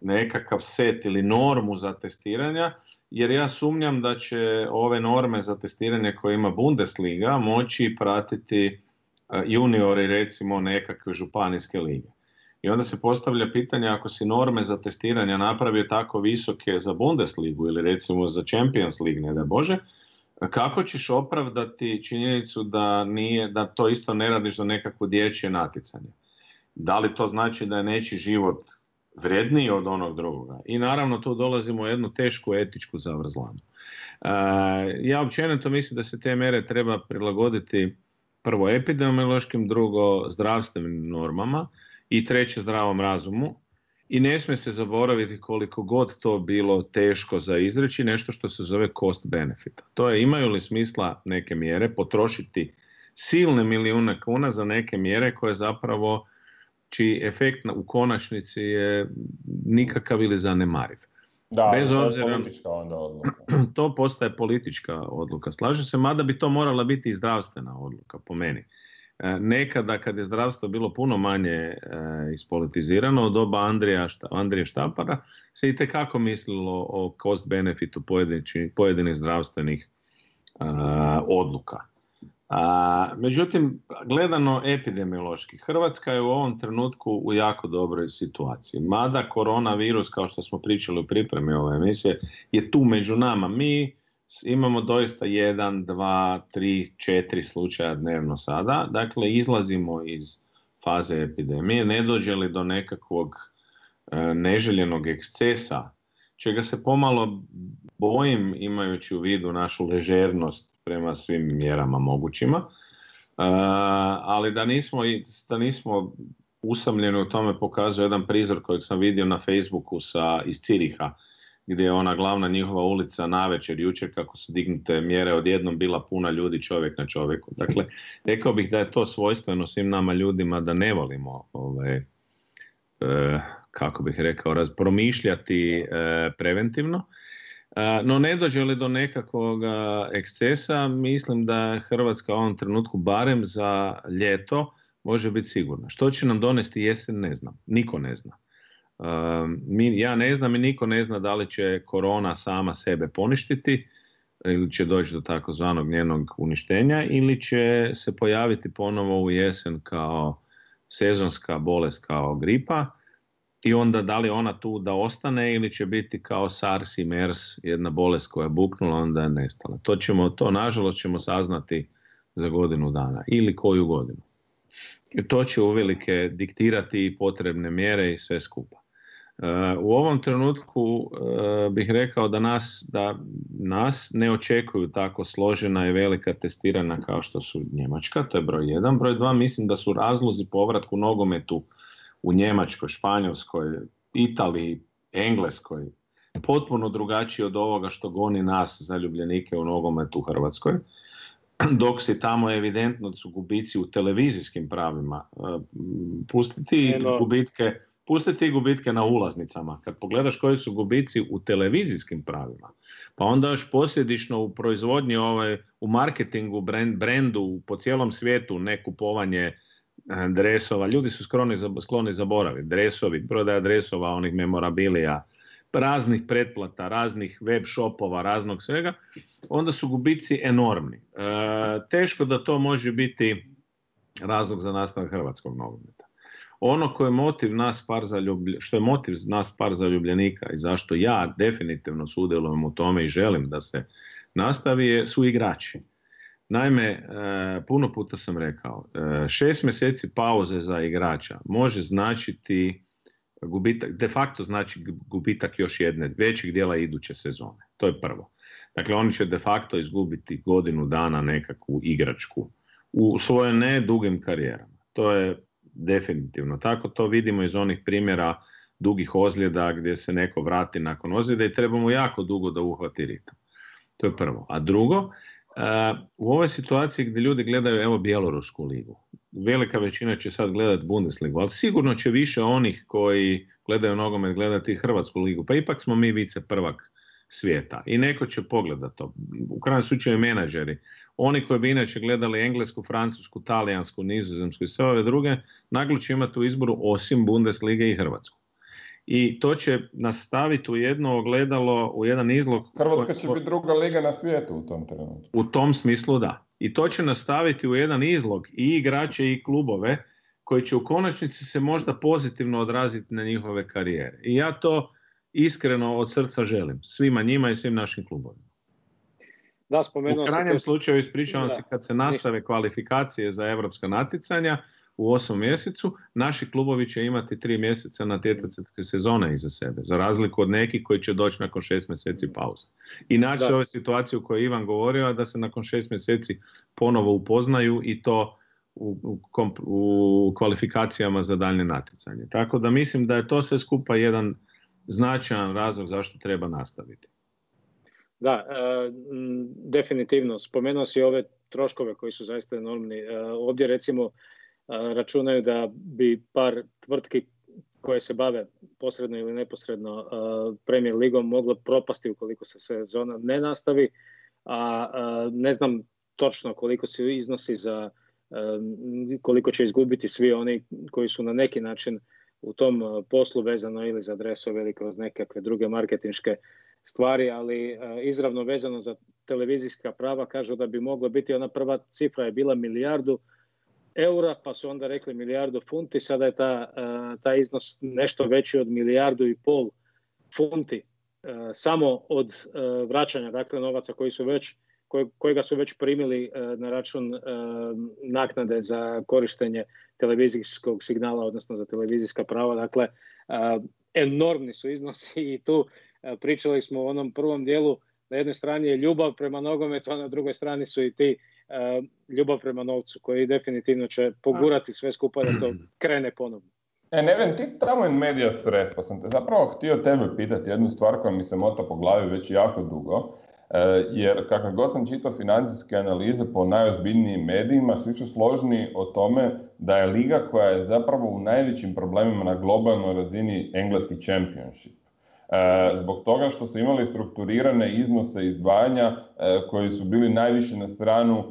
nekakav set ili normu za testiranja, jer ja sumnjam da će ove norme za testiranje koje ima Bundesliga moći pratiti juniori recimo nekakve županijske lige. I onda se postavlja pitanje, ako si norme za testiranje napravio tako visoke za Bundesligu ili recimo za Champions League, ne da Bože, kako ćeš opravdati činjenicu da to isto ne radiš za nekakvo dječje natjecanje? Da li to znači da je nečiji život vredniji od onog drugoga? I naravno tu dolazimo u jednu tešku etičku zavrzlamu. Ja općenito mislim da se te mjere treba prilagoditi prvo epidemiološkim, drugo zdravstvenim normama i treće zdravom razumu. I ne smije se zaboraviti koliko god to bilo teško za izreći, nešto što se zove cost benefit. To je, imaju li smisla neke mjere potrošiti silne milijune kuna za neke mjere koje zapravo, čiji efekt u konačnici je nikakav ili zanemariv. Da, bez obzira, politička onda odluka. To postaje politička odluka. Slažem se, mada bi to morala biti i zdravstvena odluka, po meni. Nekada, kad je zdravstvo bilo puno manje ispolitizirano, od doba Andrije Štampara, se itekako mislilo o cost-benefitu pojedinih zdravstvenih odluka. Međutim, gledano epidemiološki, Hrvatska je u ovom trenutku u jako dobroj situaciji. Mada koronavirus, kao što smo pričali u pripremi ove emisije, je tu među nama. Mi imamo doista 1, 2, 3, 4 slučaja dnevno sada. Dakle, izlazimo iz faze epidemije. Ne dođe li do nekakvog neželjenog ekscesa, čega se pomalo bojim imajući u vidu našu ležernost prema svim mjerama mogućima, ali da nismo usamljeni u tome pokazuje jedan prizor kojeg sam vidio na Facebooku iz Ciriha, gdje je ona glavna njihova ulica navečer, jučer, kako su dignute mjere, odjednom bila puna ljudi, čovjek na čovjeku. Dakle, rekao bih da je to svojstveno svim nama ljudima, da ne volimo kako bih rekao, promišljati preventivno. No ne dođe li do nekakvog ekscesa, mislim da Hrvatska u ovom trenutku, barem za ljeto, može biti sigurna. Što će nam donesti jesen, ne znam. Niko ne zna. Ja ne znam i niko ne zna da li će korona sama sebe poništiti ili će doći do takozvanog njenog uništenja ili će se pojaviti ponovo u jesen kao sezonska bolest, kao gripa. I onda da li ona tu da ostane ili će biti kao SARS i MERS, jedna bolest koja je buknula, onda je nestala. To nažalost ćemo saznati za godinu dana ili koju godinu. I to će uvelike diktirati potrebne mjere i sve skupa. U ovom trenutku bih rekao da nas ne očekuju tako složena i velika testirana kao što su Njemačka, to je broj 1. Broj 2, mislim da su razlozi povratku nogometu u Njemačkoj, Španjolskoj, Italiji, Engleskoj potpuno drugačiji od ovoga što goni nas zaljubljenike u nogometu u Hrvatskoj, dok se tamo evidentno su gubici u televizijskim pravima. Pustiti gubitke na ulaznicama. Kad pogledaš koji su gubici u televizijskim pravima, pa onda još posljedično u proizvodnji, u marketingu, brendu po cijelom svijetu, ne kupovanje dresova. Ljudi su skloni zaboraviti. Dresovi, prodaja dresova, onih memorabilija, raznih pretplata, raznih web shopova, raznog svega, onda su gubici enormni. Teško da to može biti razlog za nastavak hrvatskog nogometa. Ono što je motiv nas par zaljubljenika i zašto ja definitivno sudjelujem u tome i želim da se nastavi su igrači. Naime, puno puta sam rekao, 6 mjeseci pauze za igrača može značiti gubitak, de facto znači gubitak još jedne većeg dijela iduće sezone. To je prvo. Dakle, oni će de facto izgubiti godinu dana nekakvu igračku u svojim ne dugim karijerama. To je definitivno tako. To vidimo iz onih primjera dugih ozljeda gdje se neko vrati nakon ozljeda i treba mu jako dugo da uhvati ritam. To je prvo. A drugo, u ovoj situaciji gdje ljudi gledaju Bjelorusku ligu, velika većina će sad gledati Bundesligu, ali sigurno će više onih koji gledaju nogomet gledati Hrvatsku ligu, pa ipak smo mi vice prvak svijeta i neko će pogledati to. U krajnjem slučaju menadžeri, oni koji bi inače gledali Englesku, Francusku, Talijansku, Nizozemsku i sve ove druge, naglo će imati u izboru osim Bundeslige i Hrvatsku. I to će nastaviti u jedno ogledalo, u jedan izlog. Hrvatska će biti druga liga na svijetu u tom trenutku. U tom smislu da. I to će nastaviti u jedan izlog i igrače i klubove koji će u konačnici se možda pozitivno odraziti na njihove karijere. I ja to iskreno od srca želim. Svima njima i svim našim klubovima. Da, u krajnjem slučaju ispričavam se kad se nastave kvalifikacije za europska natjecanja u 8. mjesecu, naši klubovi će imati 3 mjeseca natjecateljske sezone iza sebe, za razliku od nekih koji će doći nakon 6 mjeseci pauze. I naći ovu situaciju koju je Ivan govorio, da se nakon 6 mjeseci ponovo upoznaju i to u kvalifikacijama za daljnje natjecanje. Tako da mislim da je to sve skupa jedan značajan razlog zašto treba nastaviti. Da, definitivno. Spomenuo si ove troškove koji su zaista enormni. Ovdje recimo računaju da bi par tvrtki koje se bave posredno ili neposredno Premier ligom moglo propasti ukoliko se sezona ne nastavi, a ne znam točno koliko su iznosi za koliko će izgubiti svi oni koji su na neki način u tom poslu vezano ili za dresove ili kroz nekakve druge marketinške stvari, ali izravno vezano za televizijska prava kažu da bi moglo biti, ona prva cifra je bila 1 milijardu eura, pa su onda rekli 1 milijardu funti, sada je taj iznos nešto veći od 1,5 milijardu funti samo od vraćanja, dakle novaca kojega su već primili na račun naknade za korištenje televizijskog signala, odnosno za televizijska prava. Dakle, enormni su iznosi i tu pričali smo u onom prvom dijelu, na jednoj strani je ljubav prema nogometu, a na drugoj strani su i ti ljubav prema novcu, koji definitivno će pogurati sve skupa da to krene ponovno. Neven, ti si tamo in medias res, pa sam te zapravo htio tebe pitati jednu stvar koja mi se mota po glavi već jako dugo, jer kakav god sam čitao financijske analize po najozbiljnijim medijima, svi su složni o tome da je liga koja je zapravo u najvećim problemima na globalnoj razini engleski championship. Zbog toga što su imali strukturirane iznose izdvajanja koji su bili najviše na stranu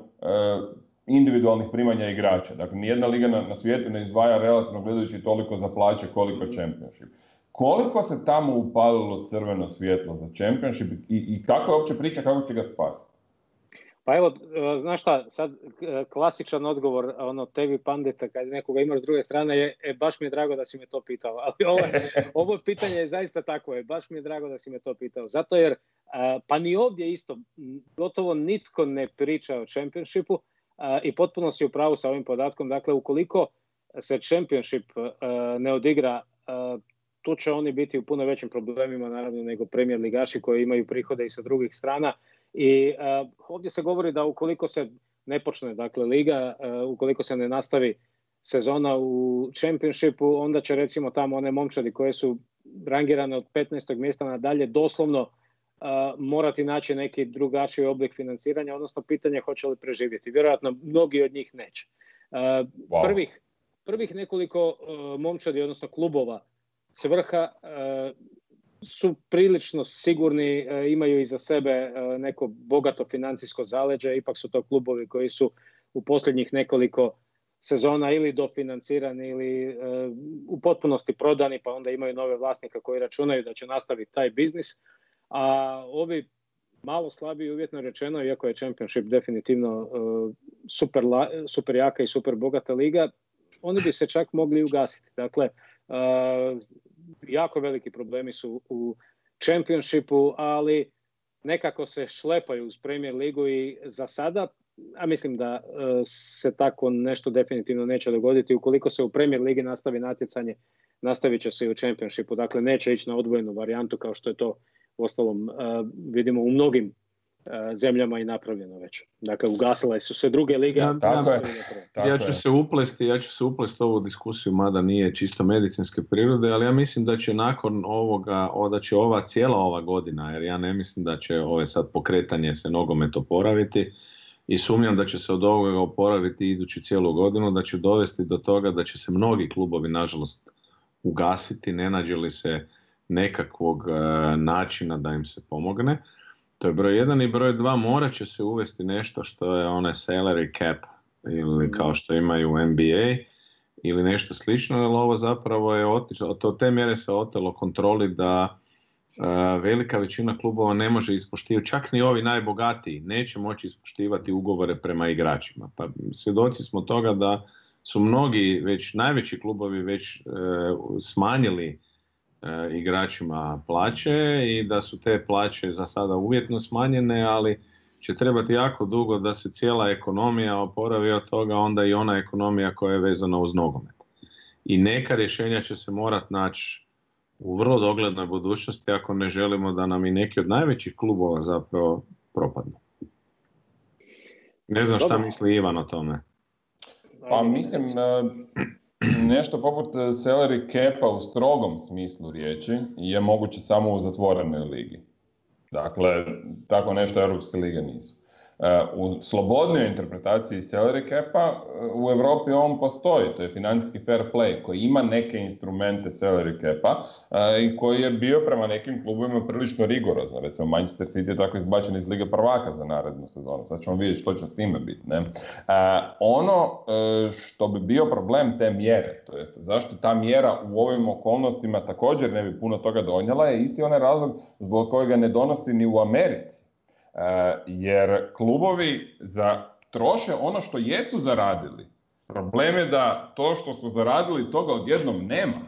individualnih primanja igrača. Dakle, nijedna liga na svijetu ne izdvaja relativno gledajući toliko za plaće koliko Championship. Koliko se tamo upalilo crveno svjetlo za Championship i kako je uopće priča, kako će ga spasiti? Pa evo, znaš šta, sad klasičan odgovor TV pandita kad nekoga imaš s druge strane je baš mi je drago da si me to pitao, ali ovo pitanje je zaista takvo, baš mi je drago da si me to pitao, zato jer pa ni ovdje isto gotovo nitko ne priča o Championshipu i potpuno si u pravu sa ovim podatkom, dakle ukoliko se Championship ne odigra, tu će oni biti u puno većim problemima naravno nego Premier ligaši koji imaju prihode i sa drugih strana. I ovdje se govori da ukoliko se ne počne, dakle, liga, ukoliko se ne nastavi sezona u Championshipu, onda će recimo tamo one momčadi koje su rangirane od 15. mjesta nadalje doslovno morati naći neki drugačiji oblik financiranja, odnosno pitanje hoće li preživjeti. Vjerojatno mnogi od njih neće. Prvih nekoliko momčadi, odnosno klubova s vrha su prilično sigurni, imaju iza sebe neko bogato financijsko zaleđe, ipak su to klubovi koji su u posljednjih nekoliko sezona ili dofinancirani ili u potpunosti prodani, pa onda imaju nove vlasnika koji računaju da će nastaviti taj biznis. A ovi malo slabiji, uvjetno rečeno, iako je Championship definitivno super jaka i super bogata liga, oni bi se čak mogli ugasiti. Dakle, jako veliki problemi su u Championshipu, ali nekako se šlepaju uz Premier ligu i za sada, a mislim da se tako nešto definitivno neće dogoditi. Ukoliko se u Premier ligi nastavi natjecanje, nastavit će se i u Championshipu. Dakle, neće ići na odvojenu varijantu kao što je to uostalom vidimo u mnogim zemljama i napravljeno već. Dakle, ugasile su se druge lige. Ja ću se uplesti ovu diskusiju, mada nije čisto medicinske prirode, ali ja mislim da će nakon ovoga, da će cijela ova godina, jer ja ne mislim da će sad pokretanje se nogomet oporaviti i sumnjam da će se od ovoga oporaviti idući cijelu godinu, da će dovesti do toga da će se mnogi klubovi, nažalost, ugasiti, ne nađe li se nekakvog načina da im se pomogne. To je broj 1 i broj 2, morat će se uvesti nešto što je onaj salary cap ili kao što imaju u NBA ili nešto slično, jer ovo zapravo je od te mjere se otelo kontroli da velika većina klubova ne može ispoštivati, čak ni ovi najbogatiji neće moći ispoštivati ugovore prema igračima. Pa svjedoci smo toga da su mnogi već najveći klubovi već smanjili igračima plaće i da su te plaće za sada uvjetno smanjene, ali će trebati jako dugo da se cijela ekonomija oporavi od toga, onda i ona ekonomija koja je vezana uz nogomet. I neka rješenja će se morati naći u vrlo doglednoj budućnosti ako ne želimo da nam i neki od najvećih klubova zapravo propadnu. Ne znam šta misli Ivan o tome. Pa mislim nešto poput salary capa u strogom smislu riječi je moguće samo u zatvorenoj ligi. Dakle, tako nešto europske lige nisu. U slobodnoj interpretaciji salary capa u Europi on postoji, to je financijski fair play koji ima neke instrumente salary capa i koji je bio prema nekim klubovima prilično rigorozno. Recimo Manchester City je tako izbačen iz Lige prvaka za narednu sezonu. Sad ćemo vidjeti što će s time biti. Ne? Ono što bi bio problem te mjere, to jest zašto ta mjera u ovim okolnostima također ne bi puno toga donijela, je isti onaj razlog zbog kojega ne donosi ni u Americi. Jer klubovi troše ono što jesu zaradili. Problem je da to što su zaradili toga odjednom nema.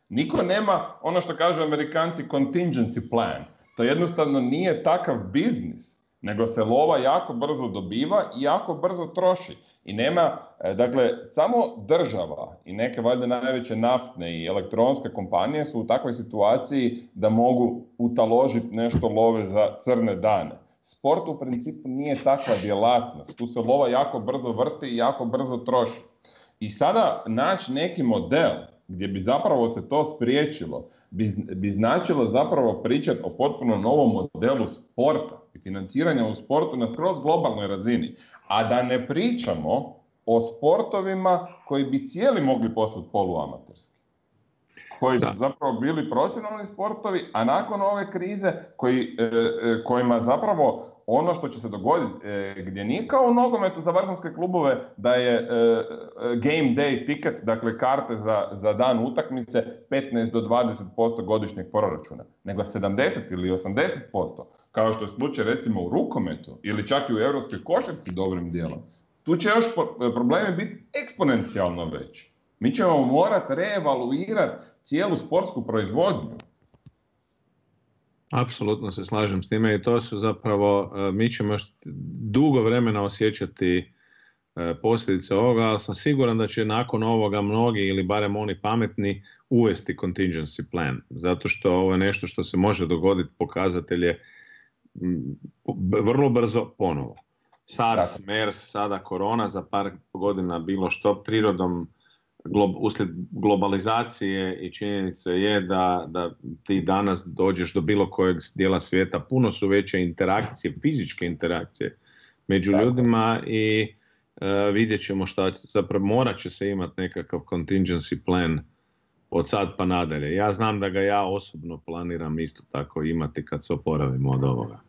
Niko nema ono što kažu Amerikanci contingency plan. To jednostavno nije takav biznis, nego se lova jako brzo dobiva i jako brzo troši. I nema, dakle, samo država i neke valjda najveće naftne i elektronske kompanije su u takvoj situaciji da mogu utaložiti nešto love za crne dane. Sport u principu nije takva djelatnost. Tu se lova jako brzo vrti i jako brzo troši. I sada naći neki model gdje bi zapravo se to spriječilo, bi značilo zapravo pričati o potpuno novom modelu sporta i financiranja u sportu na skroz globalnoj razini. A da ne pričamo o sportovima koji bi cijeli mogli postati poluamaterski. Koji su zapravo bili profesionalni sportovi, a nakon ove krize kojima zapravo ono što će se dogoditi, gdje nije kao u nogometu za vrhunske klubove da je game day ticket, dakle karte za dan utakmice 15 do 20% godišnjeg proračuna, nego 70 ili 80%, kao što je slučaj recimo u rukometu ili čak i u europskoj košarci dobrim dijelom. Tu će još problemi biti eksponencijalno veći. Mi ćemo morati reevaluirati cijelu sportsku proizvodnju. Apsolutno se slažem s time i to su zapravo, mi ćemo još dugo vremena osjećati posljedice ovoga, ali sam siguran da će nakon ovoga mnogi ili barem oni pametni uvesti contingency plan, zato što ovo je nešto što se može dogoditi, pokazatelj je vrlo brzo ponovo. SARS, MERS, sada korona, za par godina bilo što prirodom, uslijed globalizacije i činjenica je da ti danas dođeš do bilo kojeg dijela svijeta, puno su veće interakcije, fizičke interakcije među ljudima i vidjet ćemo šta, zapravo morat će se imati nekakav contingency plan od sad pa nadalje. Ja znam da ga ja osobno planiram isto tako imati kad se oporavimo od ovoga.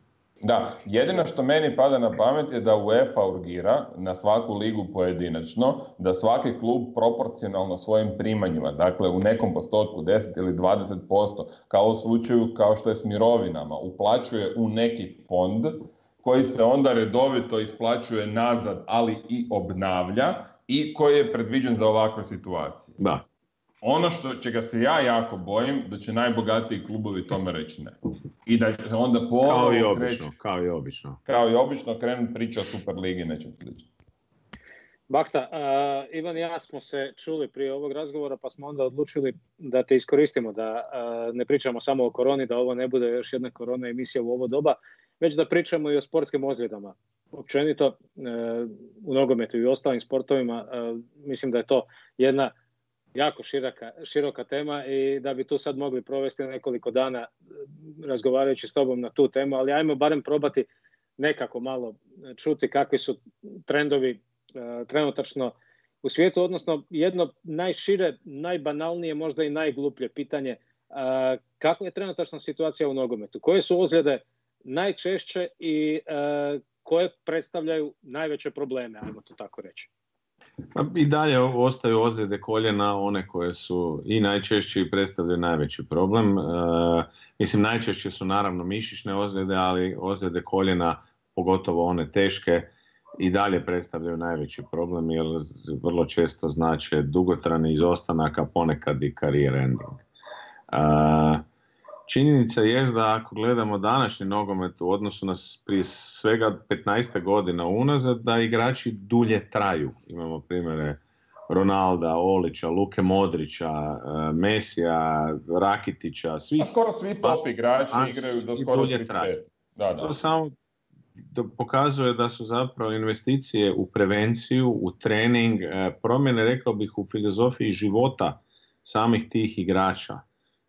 Da, jedino što meni pada na pamet je da UEFA urgira na svaku ligu pojedinačno, da svaki klub proporcionalno svojim primanjima, dakle u nekom postotku 10 ili 20%, kao u slučaju kao što je s mirovinama, uplaćuje u neki fond koji se onda redovito isplaćuje nazad, ali i obnavlja i koji je predviđen za ovakve situacije. Da. Ono čega se ja jako bojim, da će najbogatiji klubovi tome reći ne. I da će onda kao i obično krenuti priča o Superligi i nečem slično. Baksta, Ivan i ja smo se čuli prije ovog razgovora, pa smo onda odlučili da te iskoristimo, da ne pričamo samo o koroni, da ovo ne bude još jedna korona emisija u ovo doba, već da pričamo i o sportskim ozljedama. Općenito, u nogometu i u ostalim sportovima, mislim da je to jedna jako široka tema i da bi tu sad mogli provesti nekoliko dana razgovarajući s tobom na tu temu, ali ajmo barem probati nekako malo čuti kakvi su trendovi trenutačno u svijetu, odnosno jedno najšire, najbanalnije, možda i najgluplje pitanje, kakva je trenutačna situacija u nogometu? Koje su ozljede najčešće i koje predstavljaju najveće probleme, ajmo to tako reći? I dalje ostaju ozljede koljena, one koje su i najčešće i predstavljaju najveći problem. Mislim, najčešće su naravno mišićne ozljede, ali ozljede koljena, pogotovo one teške, i dalje predstavljaju najveći problem jer vrlo često znače dugotrajni izostanak, a ponekad i career ending. Činjenica je da ako gledamo današnji nogomet u odnosu na prije svega 15 godina unazad, da igrači dulje traju. Imamo primjere Ronalda, Olića, Luke Modrića, Mesija, Rakitića. Skoro svi top igrači igraju do skoro 35. Da. To samo pokazuje da su zapravo investicije u prevenciju, u trening, promjene, rekao bih, u filozofiji života samih tih igrača.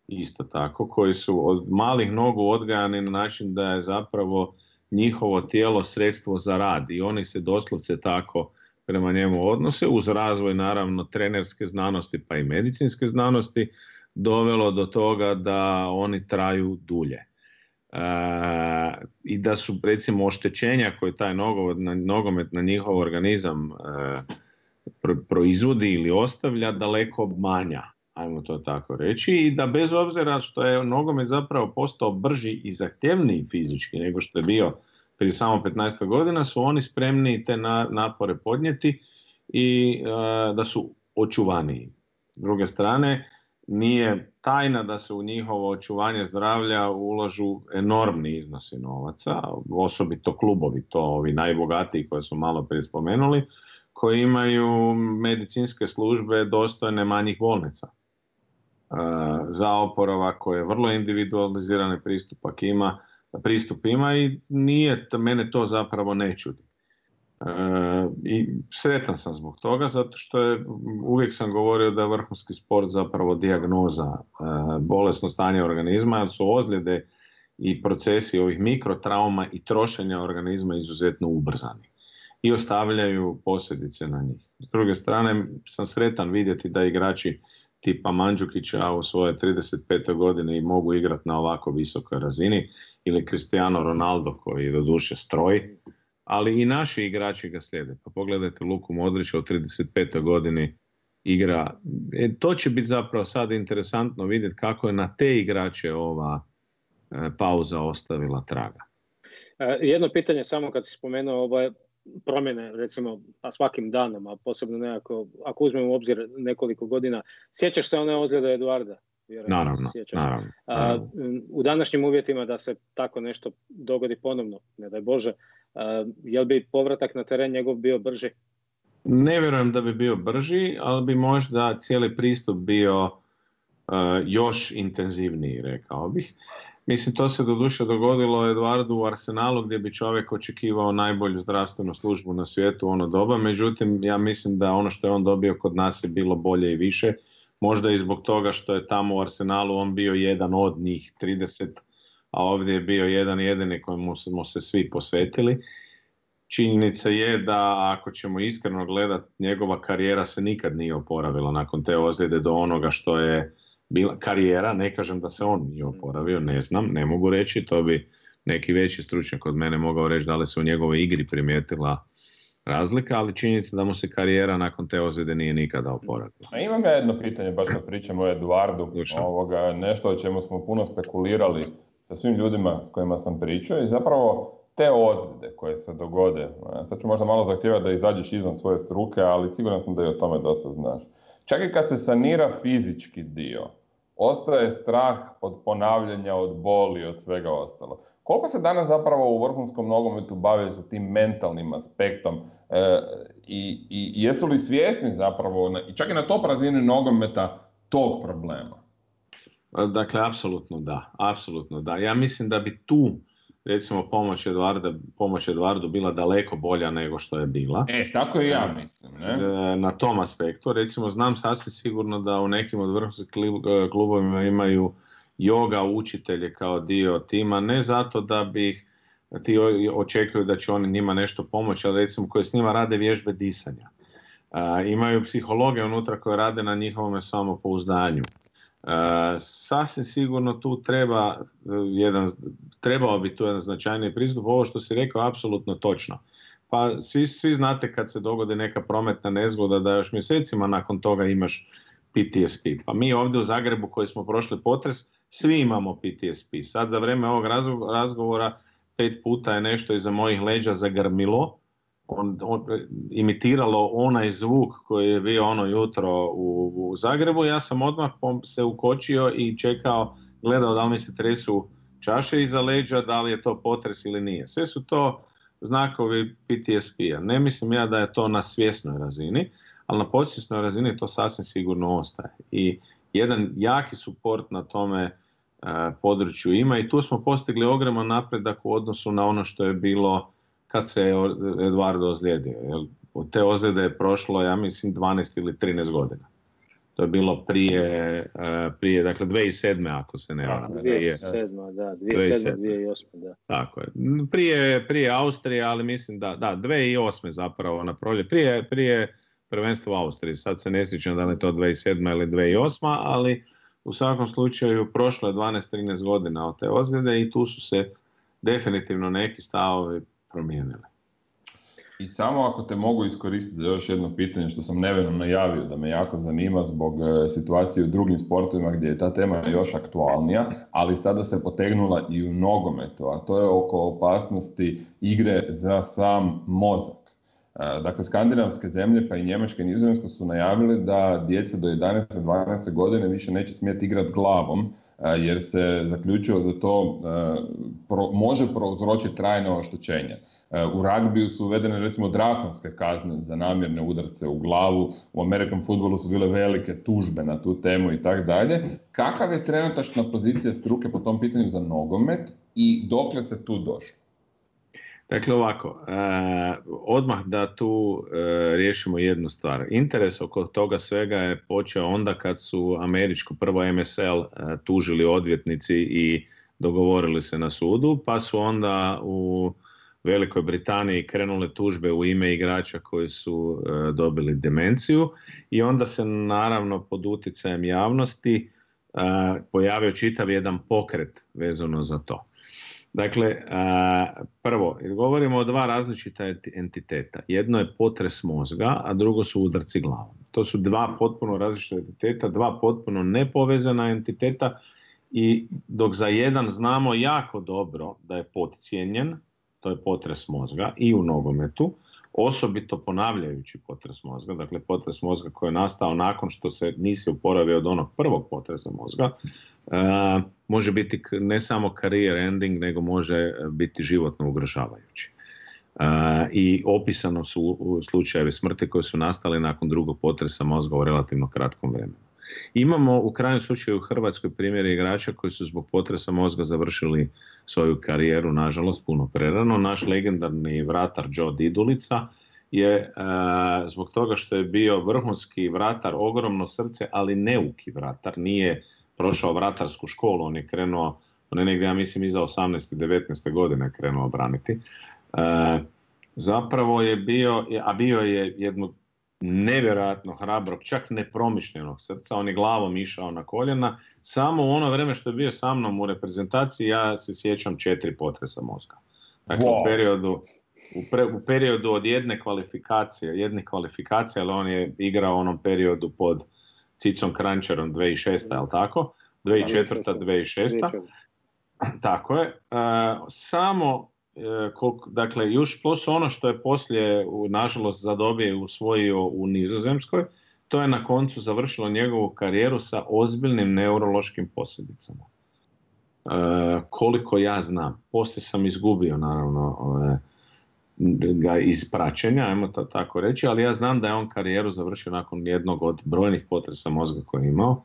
Isto tako, koji su od malih nogu odgajani na način da je zapravo njihovo tijelo sredstvo za rad i oni se doslovce tako prema njemu odnose, uz razvoj naravno trenerske znanosti pa i medicinske znanosti, dovelo do toga da oni traju dulje. I da su recimo oštećenja koje taj nogomet na njihov organizam proizvodi ili ostavlja daleko manja, ajmo to tako reći, i da bez obzira što je nogomet zapravo postao brži i zahtjevniji fizički nego što je bio prije samo 15 godina, su oni spremni te napore podnijeti i da su očuvaniji. S druge strane, nije tajna da se u njihovo očuvanje zdravlja ulažu enormni iznosi novaca, osobito klubovi, to ovi najbogatiji koje smo malo prije spomenuli, koji imaju medicinske službe dostojne manjih bolnica. Za oporavak koji je vrlo individualizirani pristup ima i mene to zapravo ne čudi. I sretan sam zbog toga, zato što uvijek sam govorio da je vrhunski sport zapravo dijagnoza bolesno stanje organizma, jer su ozljede i procesi ovih mikrotrauma i trošenja organizma izuzetno ubrzani i ostavljaju posljedice na njih. S druge strane sam sretan vidjeti da igrači tipa Mandžukića u svojoj 35. godini mogu igrati na ovako visokoj razini, ili Cristiano Ronaldo koji je doduše stroj, ali i naši igrači ga slijede. Pa pogledajte Luku Modrića u 35. godini igra. To će biti zapravo sad interesantno vidjeti kako je na te igrače ova pauza ostavila traga. Jedno pitanje samo kad si spomenuo promjene, recimo, svakim danom, a posebno nekako, ako uzmemo u obzir nekoliko godina, sjećaš se one ozljede Eduarda? Naravno. U današnjim uvjetima da se tako nešto dogodi ponovno, ne daj Bože, jel bi povratak na teren njegov bio brži? Ne vjerujem da bi bio brži, ali bi možda cijeli pristup bio još intenzivniji, rekao bih. Mislim, to se doduše dogodilo Eduardu u Arsenalu, gdje bi čovjek očekivao najbolju zdravstvenu službu na svijetu u ono doba. Međutim, ja mislim da ono što je on dobio kod nas je bilo bolje i više. Možda i zbog toga što je tamo u Arsenalu on bio jedan od njih 30, a ovdje je bio jedan jedini kojemu smo se svi posvetili. Činjenica je da, ako ćemo iskreno gledati, njegova karijera se nikad nije oporavila nakon te ozljede do onoga što je bila karijera. Ne kažem da se on nije oporavio, ne znam, ne mogu reći, to bi neki veći stručnjak od mene mogao reći da li se u njegovoj igri primijetila razlika, ali činjenica da mu se karijera nakon te ozljede nije nikada oporavila. A imam ja jedno pitanje, baš kad pričamo o Eduardu, nešto o čemu smo puno spekulirali sa svim ljudima s kojima sam pričao, i zapravo te ozljede koje se dogode, sad ću možda malo zahtijevati da izađeš izvan svoje struke, ali siguran sam da i o tome dosta znaš. Čak i kad se sanira fizički dio, ostaje strah od ponavljanja, od boli, od svega ostalo. Koliko se danas zapravo u vrhunskom nogometu bave sa tim mentalnim aspektom i jesu li svjesni zapravo, čak i na top razini nogometa, tog problema? Dakle, apsolutno da. Ja mislim da bi tu, recimo, pomoć Eduardu bila daleko bolja nego što je bila. Tako i ja mislim. Ne? Na tom aspektu. Recimo, znam sasvim sigurno da u nekim od vrhunskih klubovima imaju yoga učitelje kao dio tima, ne zato da bi ti očekuju da će oni njima nešto pomoći, ali recimo koji s njima rade vježbe disanja. Imaju psihologe unutra koji rade na njihovom samopouzdanju. Sasvim sigurno tu trebao bi tu jedan značajniji pristup. Ovo što si rekao apsolutno točno. Pa svi znate kad se dogodi neka prometna nezgoda da još mjesecima nakon toga imaš PTSP. Pa mi ovdje u Zagrebu koji smo prošli potres, svi imamo PTSP. Sad za vrijeme ovog razgovora 5 puta je nešto iza mojih leđa zagrmilo, imitiralo onaj zvuk koji je bio ono jutro u Zagrebu. Ja sam odmah se ukočio i čekao, gledao da li mi se tresu čaše iza leđa, da li je to potres ili nije. Sve su to znakovi PTSP-a. Ne mislim ja da je to na svjesnoj razini, ali na podsvjesnoj razini to sasvim sigurno ostaje. I jedan jaki suport na tome području ima i tu smo postigli ogroman napredak u odnosu na ono što je bilo kad se Eduardo ozlijedio. Od te ozljede je prošlo, ja mislim, 12 ili 13 godina. To je bilo prije dakle 2007. ako se ne varam. 2007. Da, 2008. Da. Tako je. Prije Austrije, ali mislim da 2008. zapravo na prolje. Prije prvenstva u Austriji. Sad se ne sjećam da li je to 2007. ili 2008. ali u svakom slučaju prošlo je 12-13 godina od te ozljede i tu su se definitivno neki stavovi promijenili. I samo ako te mogu iskoristiti za još jedno pitanje što sam nevjerojatno najavio da me jako zanima zbog situacije u drugim sportovima gdje je ta tema još aktualnija, ali sada se potegnula i u nogometu, a to je oko opasnosti igre za sam mozak. Dakle, skandinavske zemlje pa i Njemačka i Nizozemska su najavili da djeca do 11-12 godine više neće smjeti igrati glavom jer se zaključilo da to može prouzročiti trajno oštećenje. U ragbiju su uvedene recimo drakonske kazne za namjerne udarce u glavu, u American fudbalu su bile velike tužbe na tu temu i tako dalje. Kakav je trenutačna pozicija struke po tom pitanju za nogomet i dokle se tu došlo? Dakle ovako, odmah da tu riješimo jednu stvar. Interes oko toga svega je počeo onda kad su američko prvo MSL tužili odvjetnici i dogovorili se na sudu, pa su onda u Velikoj Britaniji krenule tužbe u ime igrača koji su dobili demenciju i onda se naravno pod utjecajem javnosti pojavio čitav jedan pokret vezano za to. Dakle, prvo, govorimo o dva različita entiteta. Jedno je potres mozga, a drugo su udarci glavom. To su dva potpuno različita entiteta, dva potpuno nepovezana entiteta i dok za jedan znamo jako dobro da je podcijenjen, to je potres mozga i u nogometu, osobito ponavljajući potres mozga, dakle potres mozga koji je nastao nakon što se nisi oporavio od onog prvog potresa mozga, može biti ne samo career ending, nego može biti životno ugrožavajući. I opisano su slučajevi smrti koji su nastali nakon drugog potresa mozga u relativno kratkom vremenu. Imamo u krajnjem slučaju u Hrvatskoj primjere igrača koji su zbog potresa mozga završili svoju karijeru, nažalost, puno prerano. Naš legendarni vratar Joe Didulica je zbog toga što je bio vrhunski vratar, ogromno srce, ali neuki vratar, nije prošao vratarsku školu, on je krenuo, on je negdje, ja mislim, iza 18. 19. godine krenuo braniti. Zapravo je bio, a bio je jedno nevjerojatno hrabrog, čak nepromišljenog srca, on je glavom išao na koljena. Samo u ono vrijeme što je bio sa mnom u reprezentaciji, ja se sjećam 4 potresa mozga. Dakle, u periodu od jedne kvalifikacije, ali on je igrao u onom periodu pod Cicom Krančarom 2006. ali tako? 2004. 2006. Tako je. Samo, dakle, još plus ono što je poslije, nažalost, zadobije usvojio u Nizozemskoj, to je na koncu završilo njegovu karijeru sa ozbiljnim neurološkim posljedicama. Koliko ja znam, poslije sam izgubio, naravno, ga iz praćenja, ajmo to tako reći, ali ja znam da je on karijeru završio nakon jednog od brojnih potresa mozga koje je imao,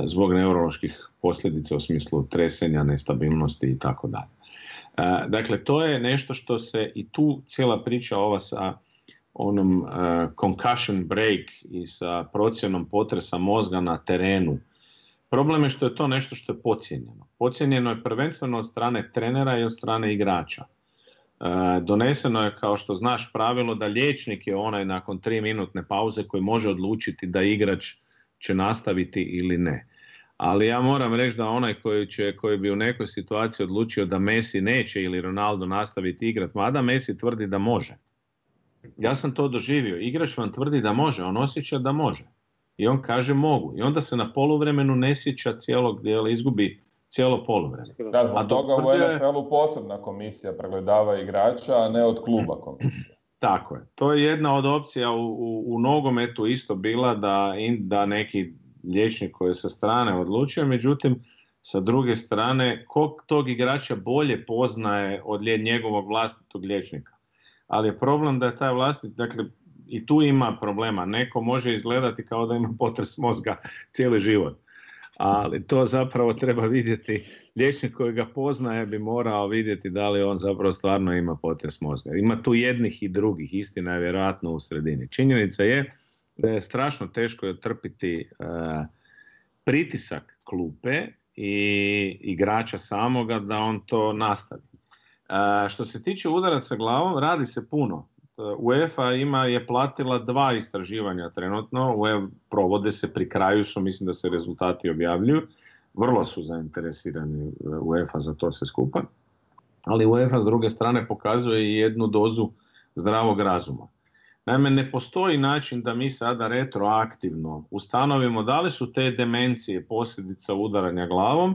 zbog neuroloških posljedica u smislu tresenja, nestabilnosti i tako dalje. Dakle, to je nešto što se i tu cijela priča ova sa onom concussion break i sa procjenom potresa mozga na terenu. Problem je što je to nešto što je podcijenjeno. Podcijenjeno je prvenstveno od strane trenera i od strane igrača. Doneseno je, kao što znaš, pravilo da liječnik je onaj nakon 3-minutne pauze koji može odlučiti da igrač će nastaviti ili ne. Ali ja moram reći da onaj koji bi u nekoj situaciji odlučio da Messi neće ili Ronaldo nastaviti igrati, mada Messi tvrdi da može. Ja sam to doživio. Igrač vam tvrdi da može, on osjeća da može. I on kaže mogu. I onda se na poluvremenu ne sjeća cijelog dijela, izgubi cijelo poluvreme. Da, zbog toga u NFL-u posebna komisija pregledava igrača, a ne od kluba komisija. Tako je. To je jedna od opcija u nogometu isto bila da neki liječnik koji je sa strane odlučio, međutim, sa druge strane, kog tog igrača bolje poznaje od njegovog vlastitog liječnika. Ali je problem da je taj vlastit, dakle, i tu ima problema. Neko može izgledati kao da ima potres mozga cijeli život. Ali to zapravo treba vidjeti, liječnik koji ga poznaje bi morao vidjeti da li on zapravo stvarno ima potres mozga. Ima tu jednih i drugih, istina je vjerojatno u sredini. Činjenica je da je strašno teško trpiti pritisak klupe i igrača samoga da on to nastavi. Što se tiče udaraca glavom, radi se puno. UEFA je platila 2 istraživanja trenutno, provode se, pri kraju su, mislim da se rezultati objavljuju, vrlo su zainteresirani UEFA za to sve skupa, ali UEFA s druge strane pokazuje i jednu dozu zdravog razuma. Naime, ne postoji način da mi sada retroaktivno ustanovimo da li su te demencije posljedica udaranja glavom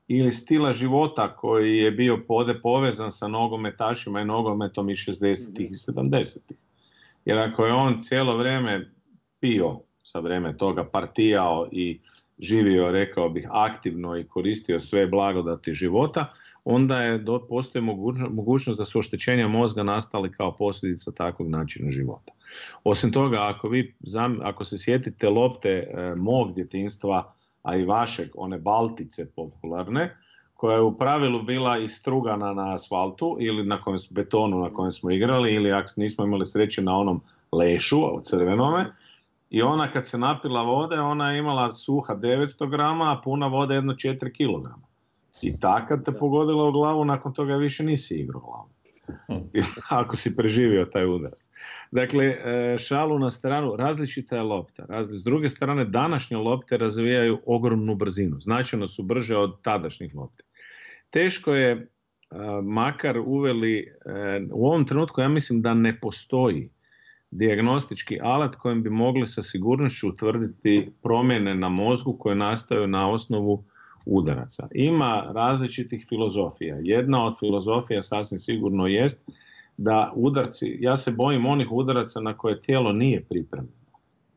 ili stila života koji je bio povezan sa nogometašima i nogometom iz 60-ih i 70-ih. Jer ako je on cijelo vrijeme pio, sa vrijeme toga partijao i živio, rekao bih, aktivno i koristio sve blagodati života, onda postoji mogućnost da su oštećenja mozga nastali kao posljedica takvog načina života. Osim toga, ako se sjetite lopte mog djetinjstva, a i vašeg, one baltice popularne, koja je u pravilu bila istrugana na asfaltu ili na betonu na kojem smo igrali, ili ako nismo imali sreće na onom lešu crvenome, i ona kad se napila vode, ona je imala suha 900 grama, a puna vode jedno 4 kilograma. I ta kad te pogodila u glavu, nakon toga više nisi igrao glavu. Ako si preživio taj udarac. Dakle, šalu na stranu, različita je lopta. S druge strane, današnje lopte razvijaju ogromnu brzinu. Značajno su brže od tadašnjih lopti. Teško je, makar uveli, u ovom trenutku ja mislim da ne postoji dijagnostički alat kojim bi mogli sa sigurnošću utvrditi promjene na mozgu koje nastaju na osnovu udaraca. Ima različitih filozofija. Jedna od filozofija sasvim sigurno jest da udarci, ja se bojim onih udaraca na koje tijelo nije pripremljeno.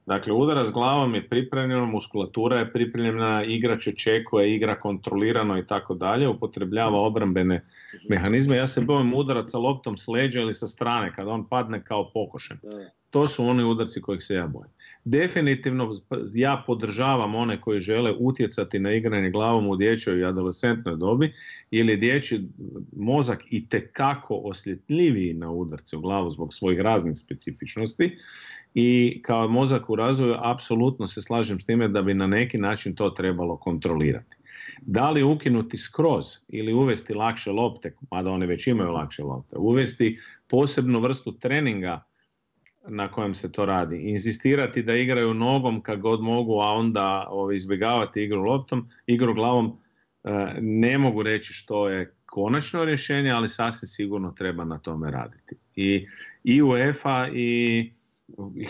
Dakle, udarac glavom je pripremljeno, muskulatura je pripremljena, igrač očekuje, igra kontrolirano i tako dalje, upotrebljava obrambene mehanizme. Ja se bojim udaraca loptom s leđa ili sa strane, kada on padne kao pokošen. To su oni udarci kojih se ja bojim. Definitivno ja podržavam one koji žele utjecati na igranje glavom u dječjoj i adolescentnoj dobi, ili dječji mozak itekako osjetljiviji na udarce u glavu zbog svojih raznih specifičnosti. I kao mozak u razvoju apsolutno se slažem s time da bi na neki način to trebalo kontrolirati. Da li ukinuti skroz ili uvesti lakše lopte, mada one već imaju lakše lopte, uvesti posebnu vrstu treninga na kojem se to radi, inzistirati da igraju nogom kad god mogu, a onda izbjegavati igru glavom, ne mogu reći što je konačno rješenje, ali sasvim sigurno treba na tome raditi. I UEFA i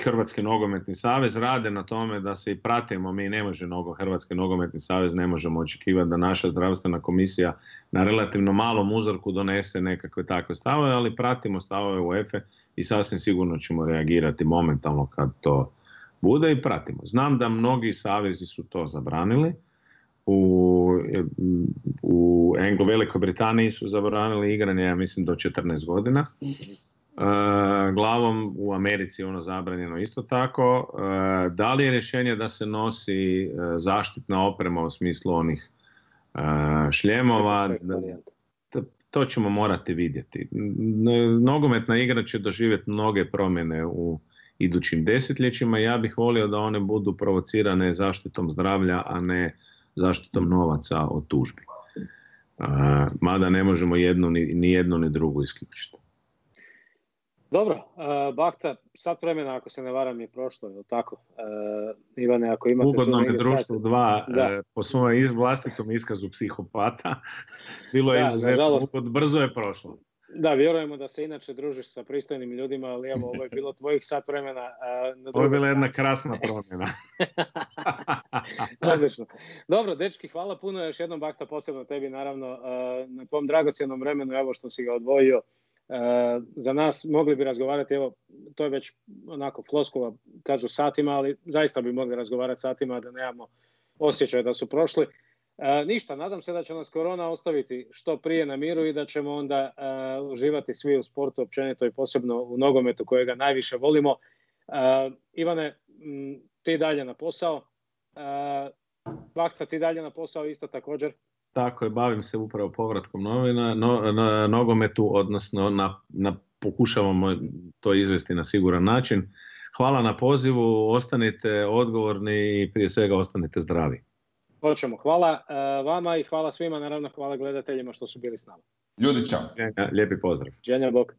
Hrvatski nogometni savez rade na tome da se i pratimo. Mi ne može Hrvatski nogometni savez ne možemo očekivati da naša zdravstvena komisija na relativno malom uzorku donese nekakve takve stavove, ali pratimo stavove UEFA i sasvim sigurno ćemo reagirati momentalno kad to bude i pratimo. Znam da mnogi savezi su to zabranili. U Velikoj Britaniji su zabranili igranje, ja mislim, do 14 godina. Glavom u Americi je ono zabranjeno isto tako. Da li je rješenje da se nosi zaštitna oprema u smislu onih šljemova? To ćemo morati vidjeti. Nogometna igra će doživjeti mnoge promjene u idućim desetljećima. Ja bih volio da one budu provocirane zaštitom zdravlja, a ne zaštitom novaca od tužbi. Mada ne možemo ni jedno ni drugo isključiti. Dobro, Bakta, sat vremena, ako se ne varam, je prošlo, je li tako? Ivane, ako imate... Ugodno je društvo 2, po svojom vlastitom iskazu psihopata. Bilo je izuzetno, brzo je prošlo. Da, vjerujemo da se inače družiš sa pristojnim ljudima, ali evo, ovo je bilo tvojih sat vremena. Ovo je bila jedna krasna promjena. Odlično. Dobro, dečki, hvala puno još jednom, Bakta, posebno tebi, naravno, na tvom dragocjenom vremenu, evo što si ga odvojio. Za nas mogli bi razgovarati, evo, to je već onako floskula, kažu satima, ali zaista bi mogli razgovarati satima da nemamo osjećaj da su prošli. Ništa, nadam se da će nas korona ostaviti što prije na miru i da ćemo onda uživati svi u sportu općenito i posebno u nogometu kojega najviše volimo. Ivane, ti dalje na posao. Bakta, ti dalje na posao isto također. Tako je, bavim se upravo povratkom na nogometu, odnosno pokušavamo to izvesti na siguran način. hvala na pozivu, ostanite odgovorni i prije svega ostanite zdravi. Hoćemo. Hvala vama i hvala svima, naravno hvala gledateljima što su bili s nama. Ljudi, čao. Lijepi pozdrav. Dženja, bok.